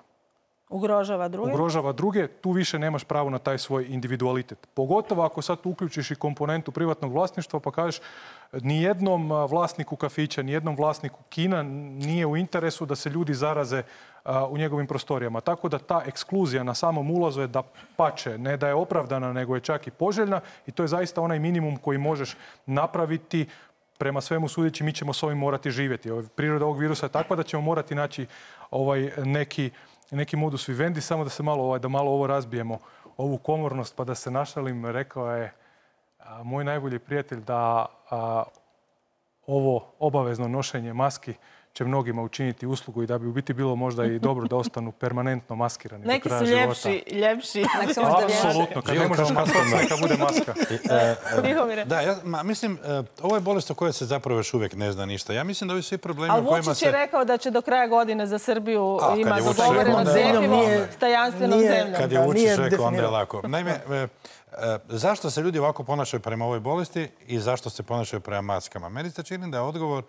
ugrožava druge. ugrožava druge, tu više nemaš pravo na taj svoj individualitet. Pogotovo ako sad uključiš i komponentu privatnog vlasništva pa kažeš nijednom vlasniku kafića, nijednom vlasniku kina nije u interesu da se ljudi zaraze u njegovim prostorijama. Tako da ta ekskluzija na samom ulazu je da pače, ne da je opravdana, nego je čak i poželjna i to je zaista onaj minimum koji možeš napraviti. Prema svemu sudeći, mi ćemo s ovim morati živjeti. Priroda ovog virusa je takva da ćemo morati naći ovaj, neki, neki modus vivendi, samo da se malo, ovaj, da malo ovo razbijemo, ovu komornost, pa da se našalim, rekao je a, moj najbolji prijatelj da a, ovo obavezno nošenje maski će mnogima učiniti uslugu i da bi u biti bilo možda i dobro da ostanu permanentno maskirani Neki do kraja su života. ljepši, ljepši. Apsolutno, kad ne možeš maskirati, neka bude maska. Da, ja ma, mislim, ovo je bolest o kojoj se zapravo još uvijek ne zna ništa. Ja mislim da ovi svi problemi Ali o kojima se... Vučić je rekao da će do kraja godine za Srbiju A, ima kad je Vučić dogovoreno rekao, cjepivo nije- s tajanstvenom nije- zemljom. Kad je Da, Vučić nije rekao, onda je definirao. lako. Naime, e, e, zašto se ljudi ovako ponašaju prema ovoj bolesti i zašto se ponašaju prema maskama? Meni se čini da je odgovor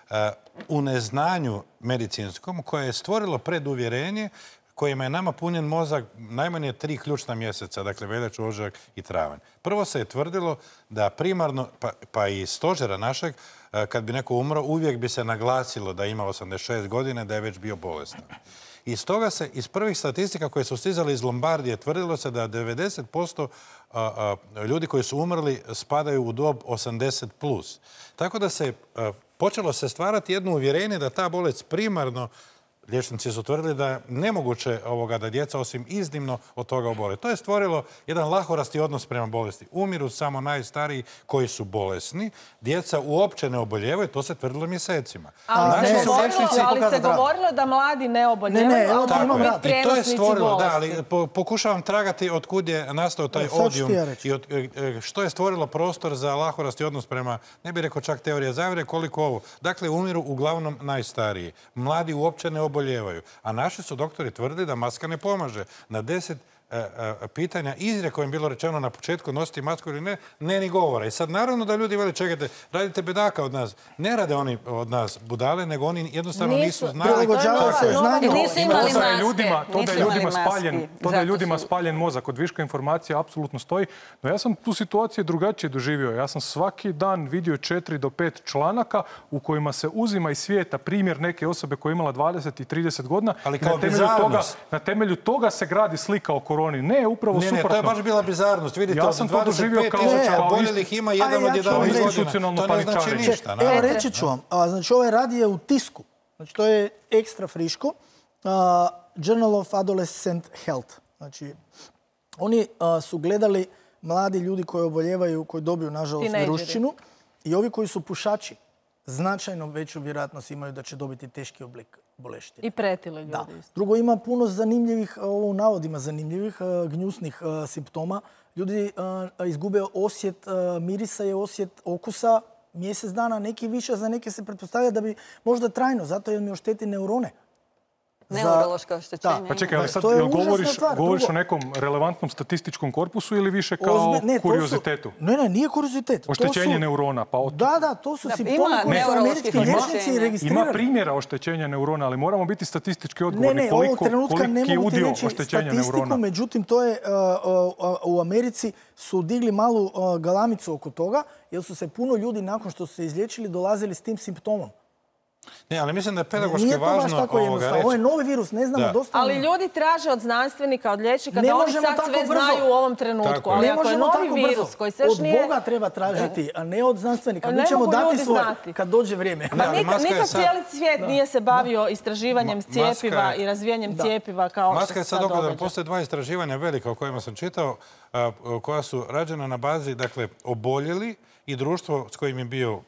e, u neznanju medicinskom koje je stvorilo preduvjerenje kojima je nama punjen mozak najmanje tri ključna mjeseca, dakle veljaču, ožujak i travanj. Prvo se je tvrdilo da primarno, pa, pa i stožera našeg, e, kad bi neko umro, uvijek bi se naglasilo da ima osamdeset šest godina, da je već bio bolestan. I stoga se iz prvih statistika koje su stizale iz Lombardije tvrdilo se da devedeset posto a, a, ljudi koji su umrli spadaju u dob osamdeset plus. Tako da se a, počelo se stvarati jedno uvjerenje da ta bolest primarno, liječnici su tvrdili da je nemoguće ovoga da djeca osim iznimno od toga obole. To je stvorilo jedan lahorasti odnos prema bolesti. Umiru samo najstariji koji su bolesni. Djeca uopće ne oboljevaju, to se tvrdilo mjesecima. Ali, Da, se, ne, govorilo, liječnici ali se pokazati rad. govorilo da mladi ne oboljevaju, Ne, ne, evo ali ti mogu imam biti rad. I to je prijenosnici stvorilo, da, bolesti. ali po- pokušavam tragati od kud je nastao taj Da, sad ću odijum ti ja reći. i od, e, e, što je stvorilo prostor za lahorasti odnos prema, ne bih rekao čak teorija zavjere, koliko ovo. Dakle, umiru uglavnom najstariji. Mladi uopće ne oboljevaju. A naši su doktori tvrdi da maska ne pomaže. Na deset e, e, pitanja izrijekom je bilo rečeno na početku nositi masku ili ne, ne ni govora. I sad naravno da ljudi veli, čekajte, radite bedaka od nas. Ne rade oni od nas budale, nego oni jednostavno nisu, Nisu, znali. prilagođavaju se Nova- znanju. Nisu imali To da je maske. ljudima, to da Nisu je ljudima imali maski. spaljen, to da je Zato ljudima su- spaljen mozak od viška informacija apsolutno stoji. No ja sam tu situaciju drugačije doživio. Ja sam svaki dan vidio četiri do pet članaka u kojima se uzima iz svijeta primjer neke osobe koja je imala dvadeset i trideset godina. Ali i kao na temelju toga, bizarnost. na temelju toga se gradi slika o koroni. Ne, upravo Ne, ne, suprotno. to je baš bila bizarnost. Vidite, Ja od sam to dvadeset doživio pet kao- tisuća kao oboljelih ima jedan Aj, ja od ću vam jedanaest reći. godina. Institucionalno To ne znači paničarenje. ništa. Evo, naravno. reći ću vam. A, znači, ovaj rad je u tisku. Znači, to je ekstra friško. A, Journal of Adolescent Health. Znači, oni a, su gledali mladi ljudi koji oboljevaju, koji dobiju, nažalost, Tinejdžeri. viruščinu. I ovi koji su pušači, značajno veću vjerojatnost imaju da će dobiti teški oblik boleštine. I pretile ljudi. Da. isto. Drugo, ima puno zanimljivih, ovo u navodima zanimljivih, a, gnjusnih a, simptoma. Ljudi a, izgube osjet a, mirisa i osjet okusa mjesec dana, neki više, za neke se pretpostavlja da bi možda trajno, zato jer mi ošteti neurone. Za- Neurološko oštećenje. Da. Pa čekaj, ali sad To je jel užasna govoriš, stvar. govoriš Drugo- o nekom relevantnom statističkom korpusu ili više kao Ozbi- ne, to su- kuriozitetu? Ne, ne, nije kuriozitet. To Oštećenje su- neurona, pa od... Da, da, to su Da, simptomi ima koji su neuroloških američki liječnici oštećenja. registrirali. Ima primjera oštećenja neurona, ali moramo biti statistički Ne, odgovorni. ne, ovog koliko, trenutka ne koliki je mogu ti udio reći oštećenja statistiku, neurona. međutim, to je uh, uh, u Americi su digli malu uh, galamicu oko toga, jer su se puno ljudi nakon što su se izliječili dolazili s tim simptomom. Ne, ali mislim da je pedagoški Nije to baš važno tako ovoga jednostavno. Ovo je reći. novi virus, ne znamo Da. dosta. Ali ljudi traže od znanstvenika, od liječnika Ne da oni možemo sad tako sve brzo. znaju u ovom trenutku. Tako je. Ali Ne ako je možemo novi tako virus brzo. koji se još Od nije... Boga treba tražiti, a ne od znanstvenika. Ne Mi ćemo mogu dati ljudi svoje znati. kad dođe vrijeme. Da, ali Nikad, maska je nikad sad- cijeli svijet nije se bavio istraživanjem Ma- maska cijepiva je- i razvijanjem Da. cijepiva kao što Maska se je sad sad dogodila. događa. Postoje dva istraživanja velika o kojima sam čitao, a, koja su rađena na bazi, dakle, oboljeli i društvo s kojim je bio,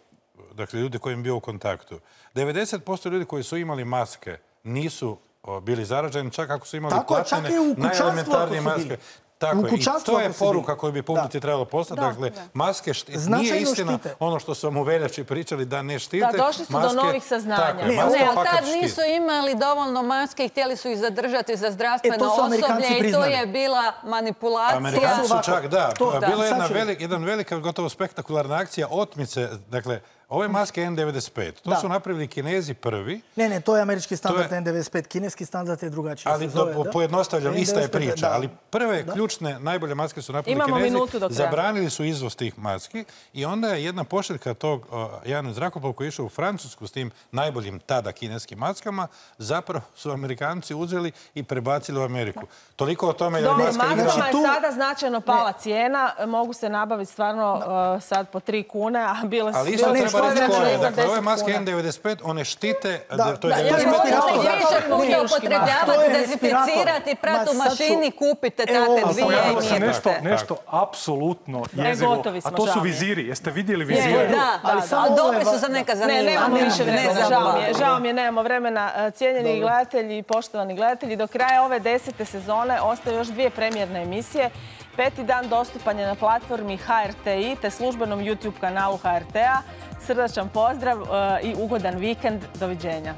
dakle, ljudi kojim je bio u kontaktu. devedeset posto ljudi koji su imali maske nisu o, bili zaraženi, čak ako su imali Tako je, čak platnene, i u kućanstvu najelementarnije ako su maske. bili. Tako U je. I kućanstvu to je ako su poruka bili. koju bi publici Da. trebalo poslati. Da, Dakle, da. maske šti- nije Značajno istina štite. ono što su vam u veljači pričali da ne štite. Da, došli su do Maske- novih saznanja. Tako je, Ne, maske Ne, ali fakat tad štite. nisu imali dovoljno maske i htjeli su ih zadržati za zdravstveno E, to su Amerikanci osoblje i to priznali. je bila manipulacija. Amerikanci su Ovako, čak, da, to- bila da, je jedna, sad ću- velik, jedan velika, gotovo spektakularna akcija otmice. Dakle, ove maske N devedeset pet, to Da. su napravili Kinezi prvi, Ne, ne, to je američki standard To je- N devedeset pet. Kineski standard je drugačiji. ali se zove, do, da. pojednostavljam, ista je N devedeset pet, priča. da. Ali prve Da. ključne, najbolje maske su napravili Imamo Kinezi, minutu do kraja. zabranili su izvoz tih maski i onda je jedna pošiljka tog uh, jedan zrakoplov koji je išao u Francusku s tim najboljim tada kineskim maskama, zapravo su Amerikanci uzeli i prebacili u Ameriku. Toliko o tome je Dobro, maska igrala. maskama je tu- sada značajno pala cijena. Mogu se nabaviti stvarno uh, sad po tri kune, a bile su... Ali isto Pa ne, treba reći koje. za Dakle, ove deset maske kuna. N devedeset pet, one štite, Da, to je da, ja devedeset pet respirator. posto Možete zaštite. više puta To upotrebljavati, je dezinficirati, respirator. prati u Ma, sad ću- mašini, kupite Evo, takve ali dvije Pojavilo i se nije nešto, biste. nešto apsolutno E, jezivo, gotovi smo, a to žao su mi je. viziri. Jeste vidjeli Je, vizire? Da, Ali da, samo ali ovo dobri je su va- za neka Ne, zanimanja. nemamo Ne, više ne, vremena, za žao mi je, dva. žao mi je, nemamo vremena. E, Cijenjeni gledatelji i poštovani gledatelji, do kraja ove desete sezone ostaju još dvije premijerne emisije. Peti dan dostupan je na platformi H R T I te službenom YouTube kanalu H R T-a. Srdačan pozdrav e, i ugodan vikend. Doviđenja.